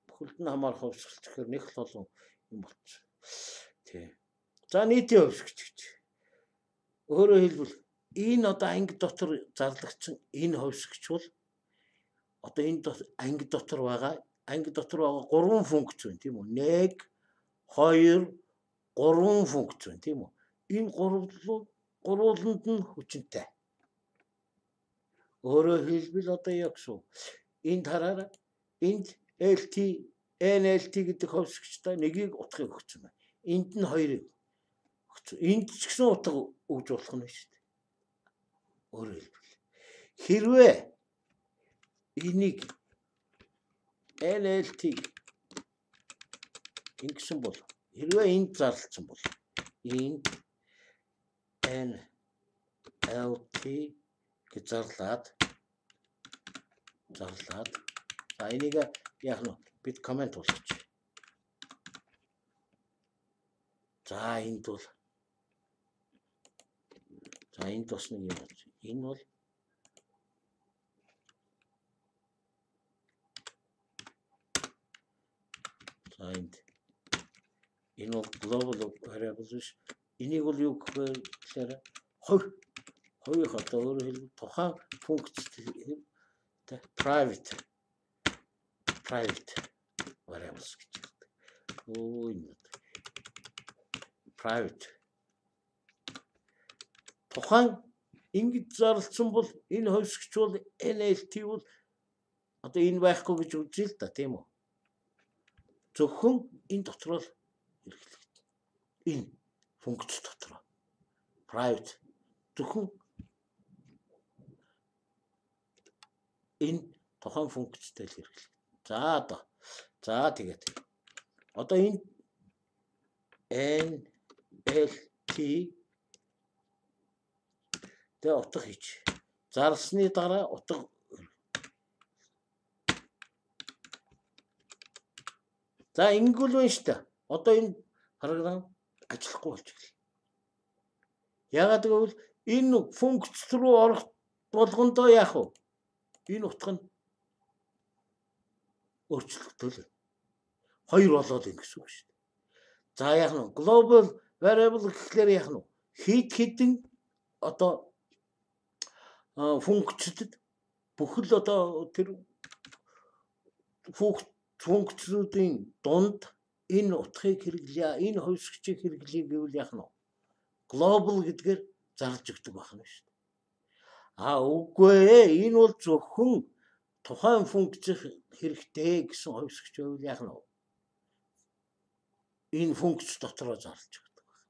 бүхэлд нь хамаарах хувьсгалч гэхээр нэг л олон юм болчих. Тий. За нийтийн хувьсгч гэж. Өөрөөр хэлбэл энэ одоо анги дотор зарлагдсан энэ хувьсгч бол одоо энэ анги дотор байгаа анги дотор байгаа гурван функц байна тийм үү? one two гурван функц байна тийм үү? Энэ гурван гурвууланд нь хүчинтэй. Өөрөөр хэлбэл одоо яг шүү. Энд хараарай. Энд lt nlt гэдэг хувьсгчтай нэгийг утгыг өгсөн байна. Энд нь хоёрыг өгсөн. Энд ч гэсэн утга өгж болох нь шүү дээ. Өөрөөр хэлбэл хэрвээ энийг nlt ингэсэн бол хэрвээ энд зарлсан бол энд nlt гэж зарлаад зарлаад за энийг яах нь бид комент болгоч. За энд бол за энд бас нэг юм болж. Энэ бол за энд энэ бол global variable биш. Энийг бол юу гэхээр хоёр хоёр одоо өөрөөр хэлбэл тухайн функц private private variables гэж хэлдэг. Оо энэ private тухайн ингэж зарлсан бол энэ хувьсгч бол nlt бол одоо энэ байхгүй гэж үзье л да тийм үү? Зөвхөн энэ дотор л хэрэглэгдэнэ. Энэ функц дотор private зөвхөн энэ тухайн функцтэй л хэрэглэгдэнэ. За одоо за тэгээд одоо энэ nlt тэ утга хийж зарлсны дараа утга за ингэвэл байна шүү дээ. Одоо энэ програм ажиллахгүй болж ирлээ. Яагаад гэвэл энэ функц руу орох болгондоо яах вэ? Энэ утга нь өөрчлөгдөл. Хоёр болоод ингэ гэсэн үг шүү дээ. За яах нь global variable гэхлээр яах нь хэд хэдэн одоо функцэд бүхэл одоо тэр функцүүдийн дунд энэ утгыг хэрэглэе, энэ хувьсгчийг хэрэглэе гэвэл яах нь global гэдгээр зарлж өгдөг байна шүү дээ. А үгүй ээ, энэ бол зөвхөн тухайн функц хэрэгтэй гэсэн хувьсгч байвал яах нь энэ функц дотроо зарлж өгдөг байна.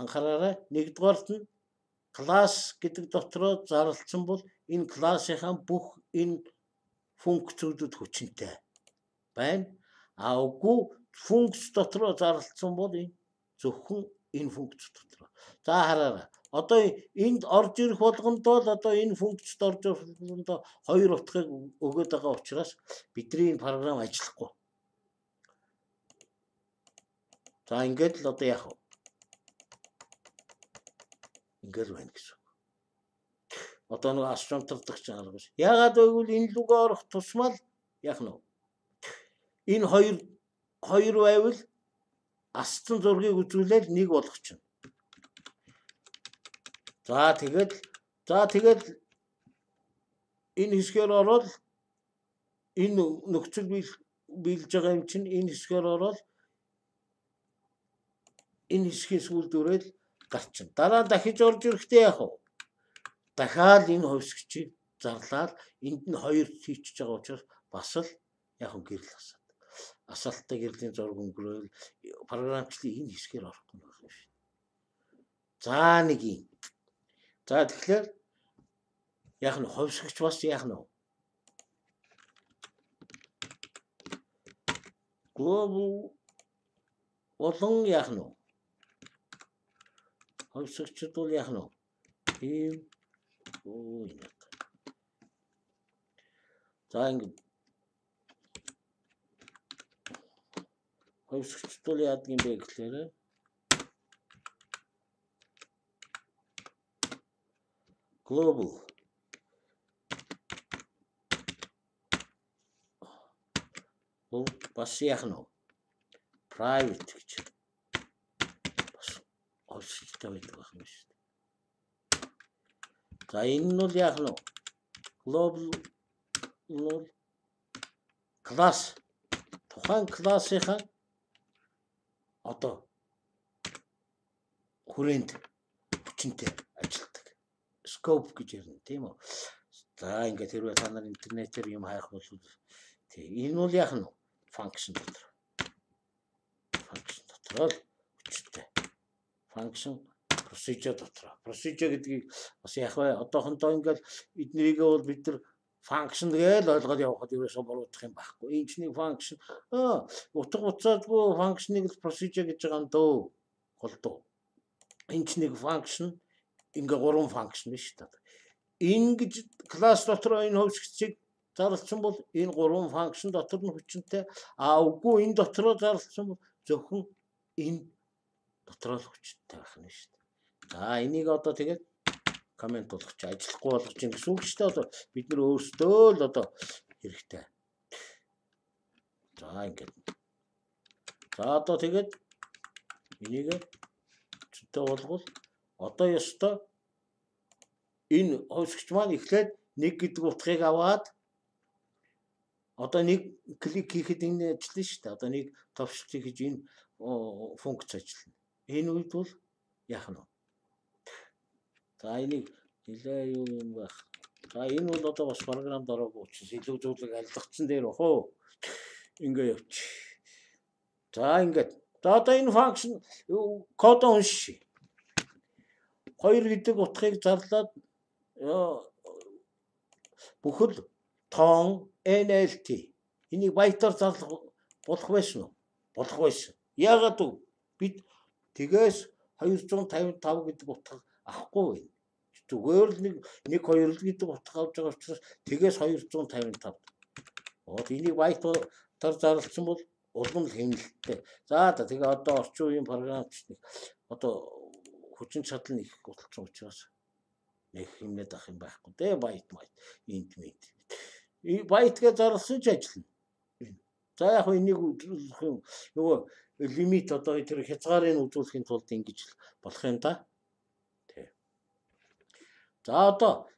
Анхаараарай, нэгдүгээрт нь класс гэдэг дотроо зарлсан бол энэ классынхаа бүх энэ функцүүдэд хүчинтэй байна. А үгүй функц дотроо зарлсан бол энэ зөвхөн энэ функц дотроо. За хараарай. Одоо энд орж ирэх болгонд бол одоо энэ функцд орж ирэх болгонд хоёр утгыг өгöd байгаа учраас бидний энэ програм ажиллахгүй. За ингээд л одоо яах вэ? Ингээд байна гэсэн. Одоо нэг асуумтардаг ч арга биш. Яагаад гэвэл энэ лүгөө орох тусмал яах нь вэ? Энэ хоёр хоёр байвал астан зургийг үзүүлээд нэг болгочихно. За тэгээд за тэгээд энэ хэсгээр ороод энэ нөхцөл биелж байгаа юм чинь энэ хэсгээр ороод энэ хэсгийн сүүлд өрөөл гарчин. Дараа дахиж орж ирэхдээ яах вэ? Дахиад энэ хувьсгчийг зарлаад энд нь хоёр хийчихэж байгаа учраас бас л яг гэрэл асаад. Асаалттай гэрлийн зураг өнгөрөөл програмчлалын энэ хэсгээр орохгүй байна шүү. За нэг юм. За тэгэхээр яг нь хувьсгч бас яг нь глобал болон яг нь хувьсгчд бол яг нь ийм оо юм. За ингэ хувьсгчд бол яадаг юм бэ гэхээр global бол бас яг нь private гэж бас хувьсгчтай байдаг байх юм шүү дээ. За энэ нь бол яг нь global бол класс тухайн классынхаа одоо хүрээнд хүчинтэй ажилтдаг. Scope гэж ярина тийм үү. За ингээд хэрвээ та нар интернетээр юм хайх бол тийм энэ бол яг нь function дотор. Function дотор л хүчтэй. Function procedure дотор. Procedure гэдгийг бас яг бай одоохондоо ингээд эднэрийг бол бид нар function гэж ойлгоод явахад ерөөсөө буруудах юм байхгүй. Энэ ч нэг function аа утга учиргүй function-ыг procedure гэж байгаа юм дөө. Голдуу. Энэ ч нэг function ингээ гурван function биш үү? Ингэж класс дотор энэ хувьсгчийг зарлсан бол энэ гурван function дотор нь хүчинтэй. А үгүй энэ дотроо зарлсан бол зөвхөн энэ дотроо л хүчинтэй байх нь шүү дээ. За энийг одоо тэгээд коммент болгоч ажиллахгүй болгож юм гэсэн үг шүү дээ. Одоо бид нар өөрсдөө л одоо хэрэгтэй. За ингээд. За одоо тэгээд энийг чөтөө болгол одоо ёстой энэ хувьсгч маань эхлээд нэг гэдэг утгыг аваад одоо нэг клик хийхэд энэ ажиллана шүү дээ. Одоо нэг товшилт хийж энэ функц ажиллана. Энэ үед бол яах нь вэ? За энийг нэлээ юу юм байх. За энэ бол одоо бас програмд ороогүй учраас илүү зүйлийг алгацсан дээр бах уу. Ингээ явчих. За ингээд. За одоо энэ function код уншия. Хоёр гэдэг утгыг зарлаад бүхэл тоон эн эл ти энийг байтаар зарлах болох байсан уу? Болох байсан. Яагаад вэ? Бид тэгээс хоёр зуун тавин тав гэдэг утга авахгүй байна. Зүгээр л нэг нэг хоёр л гэдэг утга авч байгаа учраас тэгээс хоёр зуун тавин тав. Вот энийг байтаар зарлсан бол улам л хэмнэлттэй. За тэгээ одоо орчин үеийн програмч нэг одоо хүчин чадал нь их голцсон учраас нэг хэмнээд ах юм байхгүй дээ. Байт байт инт мэд. Байт гэж зарлсан ч ажиллана. За яг энийг үзүүлэх юм нөгөө лимит одоо тэр хязгаарыг үзүүлэхийн тулд ингэж болох юм да. Тий. За одоо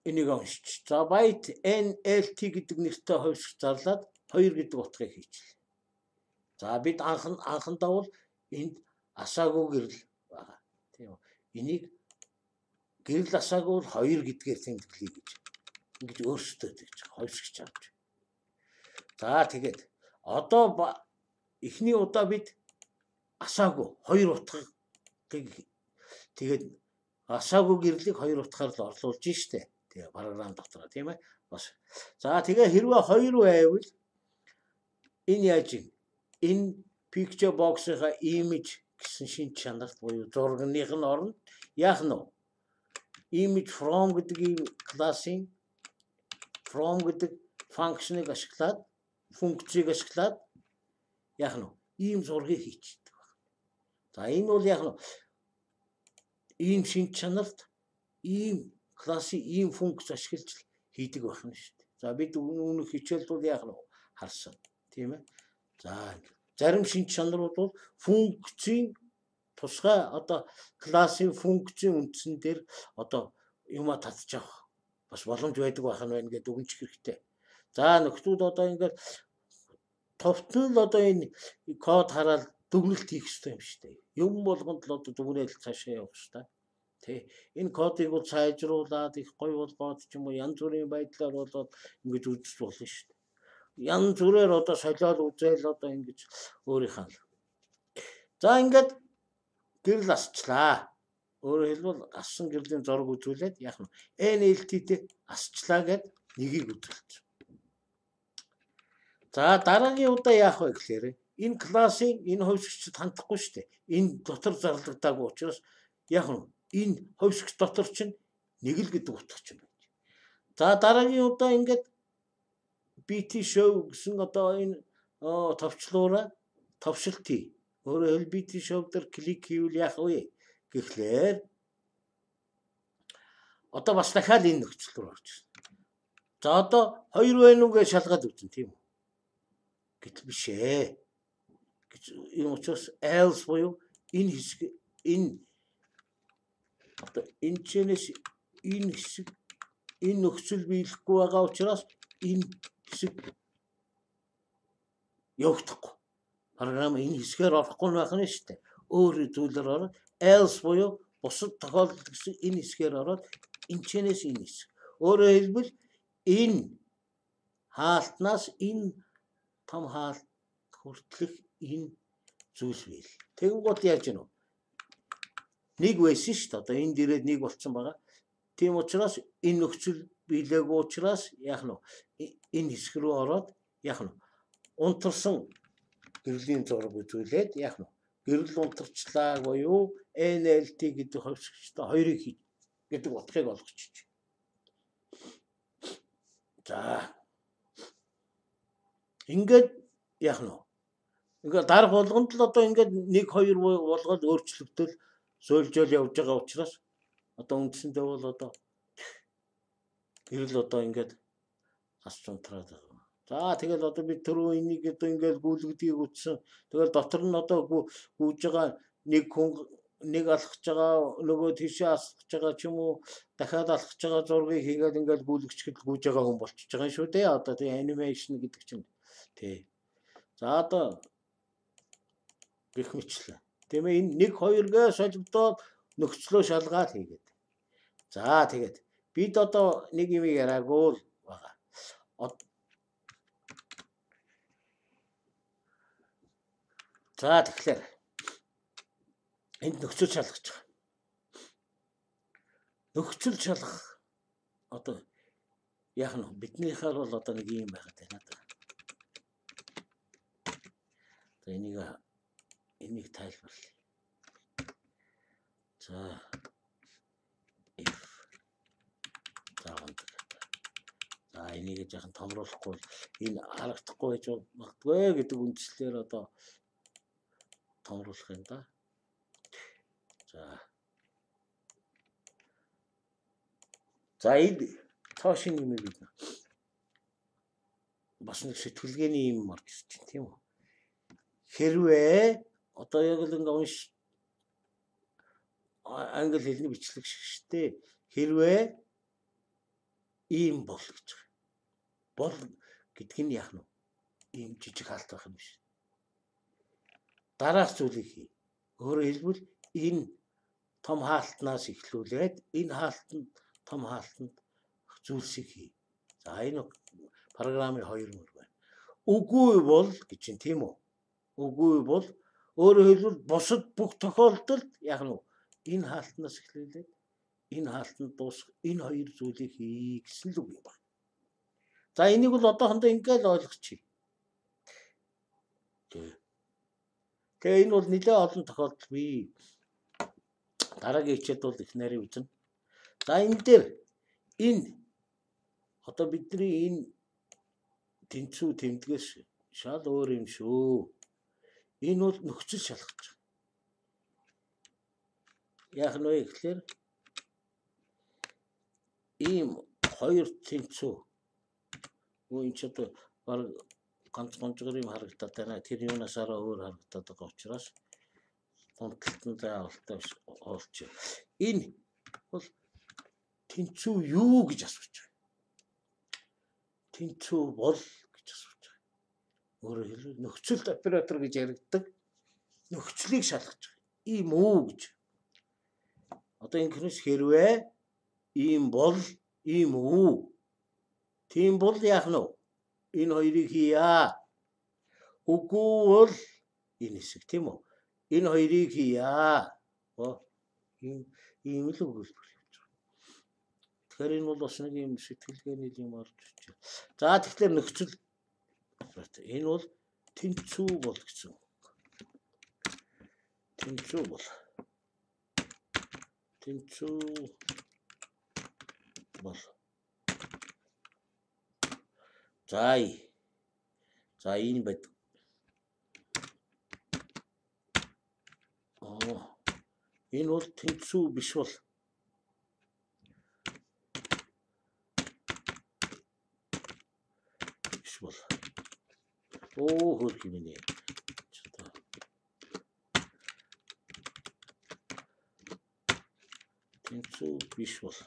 энийг уншиж. За byte N L T гэдэг нэртэй хувьсгч зарлаад хоёр гэдэг утгыг хийчихлээ. За бид анхан анхандаа бол энд асаагүй гэрэл байгаа. Тийм үү? Энийг гэрэл асаагүй бол хоёр гэдгээр тэмдэглэе гэж. Ингэж өөрсдөө тэгж хувьсгч авч. За тэгээд одоо эхний удаа бид асаагүй хоёр утгыг тэгээд асаагүй гэрлийг хоёр утгаар л орлуулж штэ. Тэгээ програм дотор тийм ээ. Бас. За тэгээ хэрвээ хоёр байвал энэ яаж юм? Энэ picture box-ийнхаа image гэсэн шинж чанарт буюу зургных нь орно. Яах нь вэ? Image from гэдэг ийм классын from гэдэг функцийг ашиглаад функцийг ашиглаад яах нь вэ? Ийм зургийг хийчихдэг байна. За энэ бол яах нь вэ? Ийм шинж чанарт ийм классын ийм функц ашиглаж хийдэг байна шүү дээ. За бид үүнийг хичээлд бол яах нь харсан. Тийм ээ. За зарим шинж чанарууд бол функцийн тусгай одоо классын функцийн үндсэн дээр одоо юма татчих авах бас боломж байдаг байх нь байна гэдэг өгнчих хэрэгтэй. За нөхдүүд одоо ингээд товтнол одоо энэ код хараад дүгнэлт хийх хэрэгтэй юм шүү дээ. Юм болгонд л одоо дүгнэлт цаашаа явах хэрэгтэй. Тэ энэ кодыг бол сайжруулад их гоё болгоод ч юм уу янз бүрийн байдлаар болоод ингэж үзэж болно шүү дээ. Янз бүрээр одоо солиод үзэл одоо ингэж өөрийнхөө. За ингээд гэрэл асчлаа. Өөрөөр хэлбэл ассан гэрлийн зураг үзүүлээд яах нь N L T-тэй асчлаа гэд нэгийг үзүүлчих. За дараагийн удаа яах вэ гэхээр энэ классын энэ хувьсгчд хандахгүй шүү дээ. Энэ дотор зарлагдаагүй учраас яах нь энэ хувьсгч дотор чинь нэг л гэдэг утгач юм байна. За дараагийн удаа ингээд B T show гэсэн одоо энэ товчлуураа товшилт хий. Өөрөөр хэлбэл B T show дээр клик хийвэл яах вэ гэхлээр одоо бас дахиад энэ нөхцөл рүү орж ирсэн. За одоо хоёр байна уу гэж шалгаад үзнэ тийм үү? Гэтэл биш ээ. Гэж энэ учраас else буюу энэ хэсэг энэ одоо энэ чэнэс энэ хэсэг энэ нөхцөл биелэхгүй байгаа учраас энэ хэсэг явагдахгүй. Програм энэ хэсгээр орохгүй байх нь шүү дээ. Өөр зүйлээр ороод else буюу бусад тохиолдолд гэсэн энэ хэсгээр ороод энэ чэнэс энэ хэсэг. Өөрөөр хэлбэл энэ хаалтнаас энэ том хаалт хүртэлх энэ зүйл бийл. Тэгэн гол яаж гэнэ вэ? Нэг байсан шүү дээ. Одоо энэ дээрээ нэг болцсон байгаа. Тийм учраас энэ нөхцөл биелээгүй учраас яах нь энэ хэсэг рүү ороод яах нь унтарсан гэрлийн зураг үзүүлээд яах нь гэрэл унтарчлаа буюу N L T гэдэг хувьсгчтай хоёрыг хий гэдэг утгыг олгочих. За ингээд яах нь ингээд дарга болгонд л одоо ингээд нэг хоёр болгоод өөрчлөгдөл сөөлжөл явж байгаа учраас одоо үндсэндээ бол одоо гэрэл одоо ингээд асч унтраад байгаа. За тэгэл одоо би түрүү энийг одоо ингээд гүйлгдгийг үтсэн. Тэгэл дотор нь одоо гүйж байгаа нэг хүн нэг алхаж байгаа нөгөө тийшээ асгаж байгаа ч юм уу дахиад алхаж байгаа зургийг хийгээд ингээд гүйлгчгэд гүйж байгаа хүн болчихж байгаа юм шүү дээ. Одоо тэгээ анимашн гэдэг чинь тий. За одоо гэх мэтлээ. Тийм ээ энэ нэг хоёргээ солигдоод нөхцлөө шалгаад хийгээд. За тэгээд бид одоо нэг юм яраагүй л байгаа. За тэгэхээр энд нөхцөл шалгаж байгаа. Нөхцөл шалгах одоо яах нь биднийхээ бол одоо нэг юм байгаад байна даа. За энийг энийг тайлбарлая. За if за за энийг жаахан томруулахгүй энэ харагдахгүй байж магадгүй гэдэг үндслээр одоо томруулах юм да. За. За энэ тоошин юм бид. бас нэг сэтгэлгээний юм орж ирж байна тийм үү. Хэрвээ одоо яг л ингээ унш англи хэлний бичлэг шиг штэ. Хэрвээ ийм бол гэж. Бол гэдг нь яах нь ийм жижиг хаалт байх юм биш. Дараах зүйлийг хий. Өөрөөр хэлбэл энэ том хаалтнаас эхлүүлээд энэ хаалтанд том хаалтанд зүйлсийг хий. За энэ програмын хоёр мөр байна. Үгүй бол гэж юм тийм үү? Үгүй бол өөрөөр хэлбэл бусад бүх тохиолдолд яг нь энэ хаалтнаас эхлүүлээд энэ хаалтанд дуусах энэ хоёр зүйлийг хий гэсэн л үг юм байна. За энийг бол одоохондоо ингээд л ойлгочих. Тэгээ энэ бол нэлээд олон тохиолдол бий. Дараагийн хичээлд бол их нарийн үзнэ. За энэ дээр энэ одоо бидний энэ тэнцүү тэмдгээс шал өөр юм шүү. Энэ бол нөхцөл шалгаж байгаа. Яг нь вэ гэхлээр ийм хоёр тэнцүү үн ч одоо баг ганц гонжгор юм харагдаад байна. Тэр юунаас арай өөр харагдаад байгаа учраас гонтолтон заавалтай олж. Энэ бол тэнцүү юу гэж асууж байгаа. Тэнцүү бол гэж асууж байгаа. Өөрөөр хэлбэл нөхцөлт оператор гэж яригддаг. Нөхцөлийг шалгаж байгаа. Ийм үү гэж. Одоо ингэхнээс хэрвээ ийм бол ийм үү. Тийм бол яах нь вэ? Энэ хоёрыг хийя. Үгүй бол энэ хэсэг тийм үү? Энэ хоёрыг хийя. Оо ийм ийм л өгүүлбэр явж байгаа. Тэгэхээр энэ бол бас нэг юм сэтгэлгээний юм орж ирж байна. За тэгэхээр нөхцөл энэ бол тэнцүү бол гэсэн. Тэнцүү бол. Тэнцүү бол. За за энэ бод. Оо энэ бол тэнцүү биш бол. Биш бол. Оо хөрх юм нэ. Тэнцүү биш бол.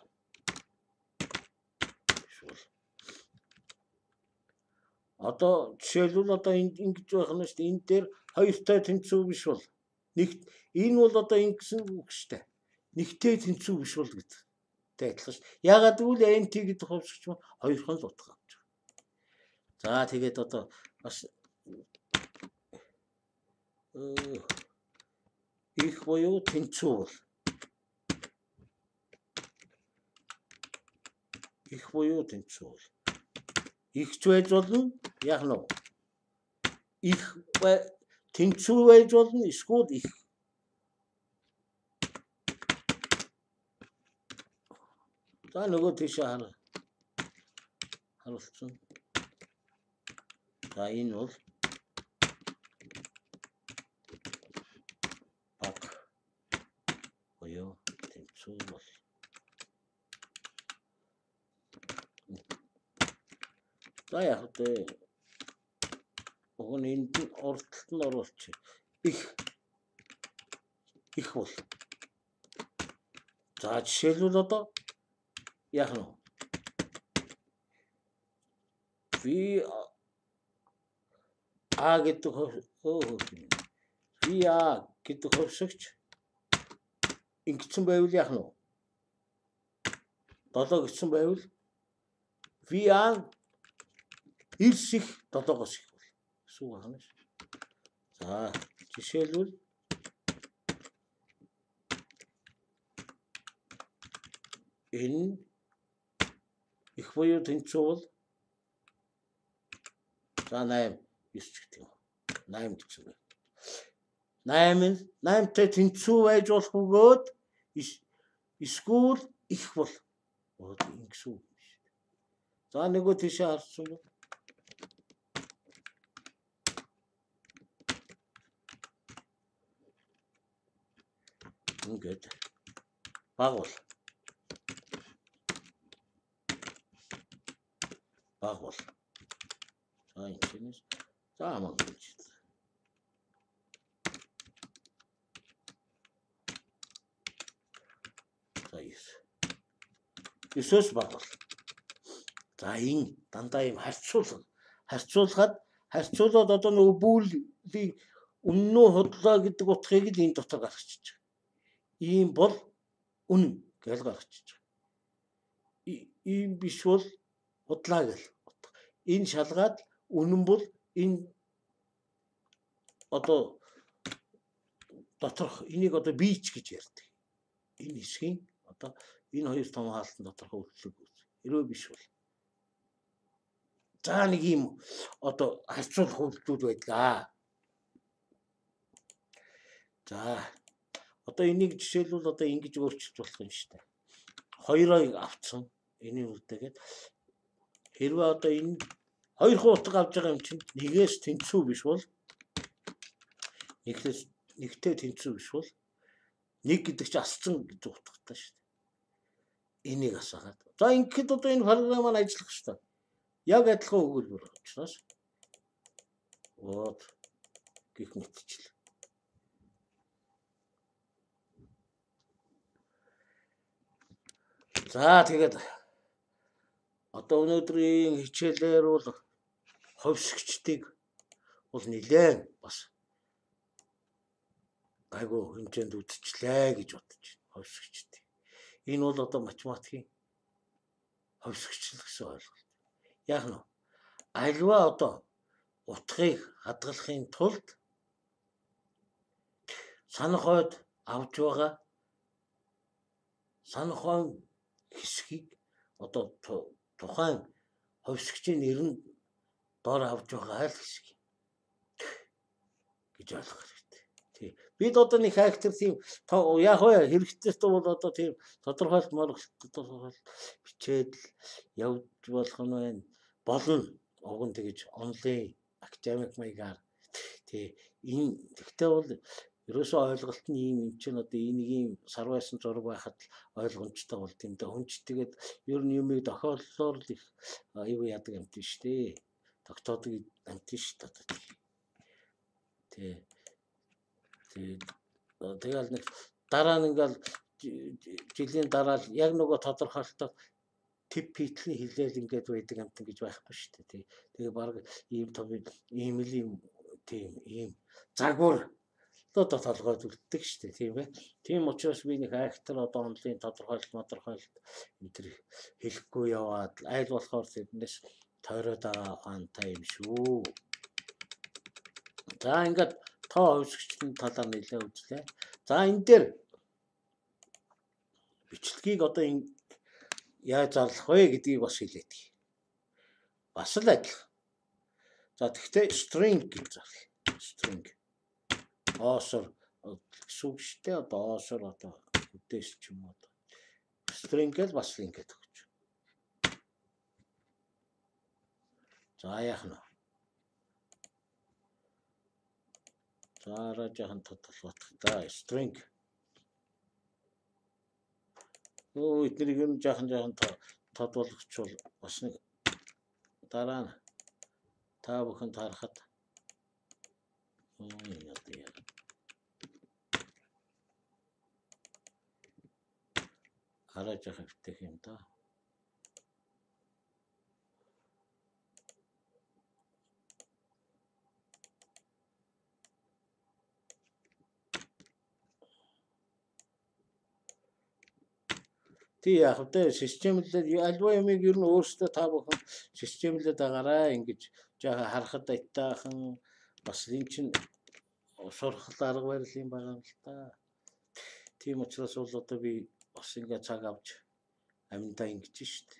Биш бол. Одоо жишээлбэл одоо ингэж байх нь шүү дээ. Энэ дээр хоёртой тэнцүү биш бол. Нэг энэ бол одоо ингэсэн үг шүү дээ. Нэгтэй тэнцүү биш бол гэдэг. Тэ адилхан шүү. Ягаад гэвэл анти гэдэг хувьсгч маань хоёрхан л утга авч байгаа. За тэгээд одоо бас их буюу тэнцүү бол. Их буюу тэнцүү бол. Ихч байж болно яг нь их тэнцүү байж болно эсвэл их. За нөгөө тийшээ хар харуулсан. За энэ бол баг буюу тэнцүү бол. За яг тэ өгөн энд ордолт нь оруулчих. Их их бол. За жишээлбэл одоо яг нь ви а гэдэг оо ви а гэдэг хувьсгч ингэсэн байвал яг нь долоо гэсэн байвал ви а эрс их долоогоос их бол. Гэсэн үг байна шүү. За жишээлбэл энэ их буюу тэнцүү бол за восемь ёс ч гэдэг юм. восемь гэсэн байна. восемь восемьтай тэнцүү байж болох бөгөөд эсвэл их бол. Оо ингэсэн үг биш. За нөгөө тийшээ харсан бол ингээд баг бол. Баг бол. За энэ чинээс за амаа гэж. За yes. Есөөс багвал. За энэ дандаа юм харьцуулга. Харьцуулгаад харьцуулаад одоо нөгөө бүүлийг үннөө худлаа гэдэг утгыг л энэ дотор гаргачихж байгаа. Ийм бол үнэн гэж гаргачихж байгаа. Ийм биш бол худлаа гэл. Энэ шалгаад үнэн бол энэ одоо доторх энийг одоо бийч гэж ярьдаг. Энэ хэсгийн одоо энэ хоёр том хаалтан доторх үйлчлэг үз. Хэрвээ биш бол за нэг юм одоо харьцуулах үйлдэл байдаг. За одоо энийг жишээлбэл одоо ингэж өөрчилж болох юм шүү дээ. Хоёрыг авцсан энийг үлдээгээд хэрвээ одоо энэ хоёр хуудас авч байгаа юм чинь нэгээс тэнцүү биш бол нэгээс нэгтэй тэнцүү биш бол нэг гэдэг чинь асцсан гэж утгатай шүү дээ. Энийг асаагаад. За ингэхэд одоо энэ програм маань ажиллах шүү дээ. Яг адилхан өгүүлбэр учраас вот гэх мэтчил. За тэгээд одоо өнөөдрийн хичээлээр бол ховсгчдыг бол нэлээд бас айгу хэмжээнд үдчихлээ гэж бодож байна. Ховсгчдыг. Энэ бол одоо математикийн ховсгчл гэсэн ойлголт. Яг нь альва одоо утгыг хадгалахын тулд санах хойд авч байгаа санах хойд хэсгийг одоо тухайн ховсгчийн нэрнд дор авч байгаа л хэсэг гэж ойлгох хэрэгтэй. Тий. Бид одоо нэг хайхтар тийм яг вэ хэрэгтэйс бол одоо тийм тодорхойлт тодорхойлт бичээд явж болох нь байна. Болно. Уг нь тэгэж онлайн академик маягаар тий энэ тэгтээ бол ерөөсөө ойлголт нь ийм юм чинь одоо энийг ийм сар байсан зураг байхад ойлгомжтой бол тийм дэ хүн ч тэгээд ер нь юмыг тохиоллоор л их аюу яадаг юм тийм шүү дээ. Тогтоодог амт шүү дээ. Тий. Тий. Тэгэл нэг дараа нь ингээл жилийн дараа л яг нөгөө тодорхойлолтоо тип питлийн хилээл ингээд байдаг амт гэж байхгүй шүү дээ. Тий. Тэгээ баг ийм том ийм л ийм тийм ийм загвар одоо толгойд үлддэг шүү дээ. Тийм ээ. Тийм учраас би нэг актер одоо онлайн тодорхойлолт тодорхойлолт энэ төр хэлэхгүй яваад айл болохоор тэрнээс тойроод байгаа ухаантай юм шүү. За ингээд тоо хөвсгчлийн талаар нэлээд үзлээ. За энэ дээр бичлэгийг одоо энэ яаж зарлах вэ гэдгийг бас хэлээд. Бас л адилхан. За тэгтээ string гэж зарлаа. String. Оосор сүгштэй одоо оосор одоо үдээс ч юм уу. String гэж бас link гэдэг гэж. За яах нь. За раажахан тодорхойлох та string. Оо эднийг юм жаахан жаахан тодруулахчвал бас нэг дараа нь та бүхэн тарахад оо яа яа. Хараа жаахан битэх юм да. Тий яг хөтэ системлээд альва юмыг ер нь өөрсдөө та бүхэн системлээд байгаарай ингэж жаахан харахад айтаахан бас энэ чинь сурах арга барил юм байгаа юм л та. Тийм учраас бол одоо би бас ингэ цаг авч амьдаа ингэж штт.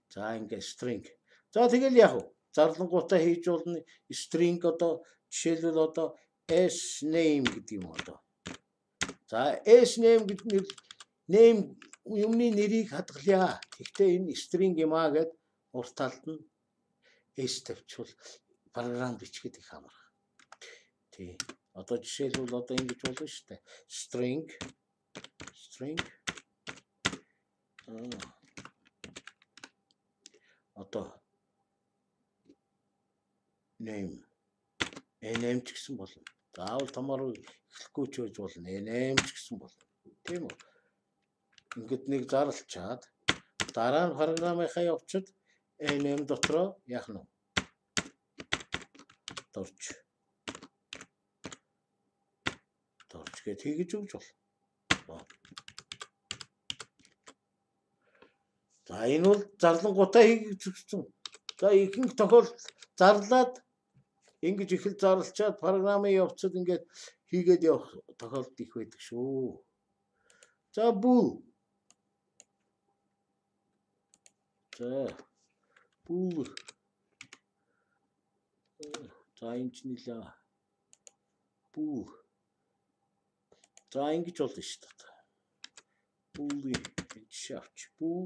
За ингэ string. За тэгэл яг уу зарлангуудаа хийж болно string одоо жишээлбэл одоо s name гэдэг юм одоо. За s name гэдэг name юмны нэрийг хадгалъя. Гэхдээ энэ string юм аа гэд урт талд нь s тавьчихвал програм бичгээд их амарх. Тий. Одоо жишээлбэл одоо ингэж болно шүү дээ. String string одоо name name ч гэсэн болно. Заавал томоор эхлэхгүй ч байж болно. name ч гэсэн болно. Тийм үү? Ингээд нэг зарлчаад дараа нь програмынхаа явцад name дотроо яах нь дорж дорж гэж хийж өгч бол. За энэ бол зарлангуудаа хийж өгсөн. За ихэнх тохиолдолд зарлаад ингэж ихэл зарлчаад програмын явцад ингээд хийгээд явах тохиолдол их байдаг шүү. За бүү. За бүү. За энэ ч нэлээ. Бүү. За ингэж болно шүү дээ. Бүү шавч бүү.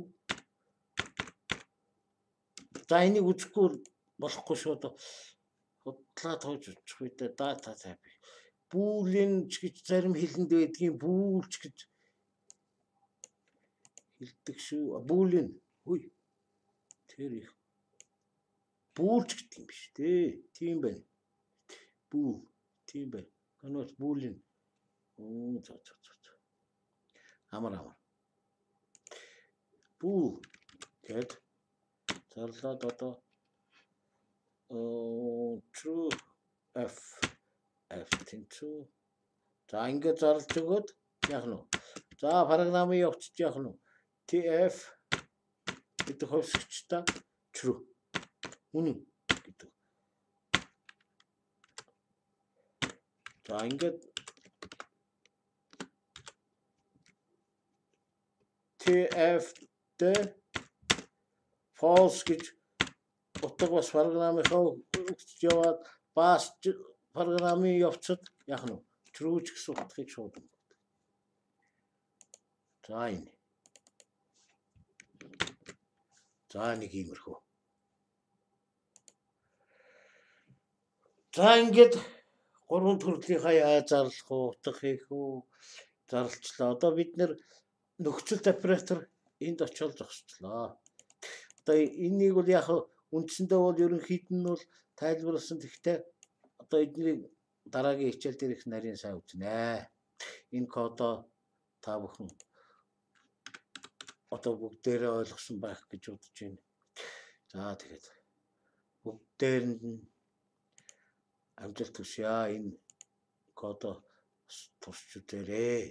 За энийг үзэхгүй болохгүй шүү дээ. Худлаа тоож очих үедээ дата type. Бүүлийн ч гэж зарим хэлэнд байдгийн бүүлч гэж хэлдэг шүү. Бүүлийн. Хүй. Тэр их. Бүүлч гэдэг юм биш дээ. Тийм байна. Бүү. Тийм байна. Канаас бүүлийн. Оо за за за. Амар амар. Бүү. Гэт зарлаад одоо оо true f f тэнцүү. За ингээд зарлж өгөөд яах нь вэ? За програмын явцд яах нь вэ? tf гэдэг хөвсгчтэй true. Үнэн гэдэг. За ингээд tf дэ false гэж утга бас програмынхаа хөвсгч яваад бас програмын явцад яах нь вэ? True ч гэсэн утгыг шууд. За энэ. За нэг иймэрхүү. За ингээд гурван төрлийнхаа яаж зарлах уу, утга хийх үү, зарлчлаа. Одоо бид нэр нөхцөл оператор энд очиод зогсчлоо. Одоо энийг бол яг үндсэндээ бол ерөнхийд нь бол тайлбарласан. Гэхдээ одоо эднийг дараагийн хичээл дээр их нарийн сайн үзнэ. Энэ кодоо та бүхэн одоо бүгдээрээ ойлгосон байх гэж бодож байна. За тэгээд бүгдээрэнд нь амжилт хүсье. Энэ кодоо турш үзээрэй.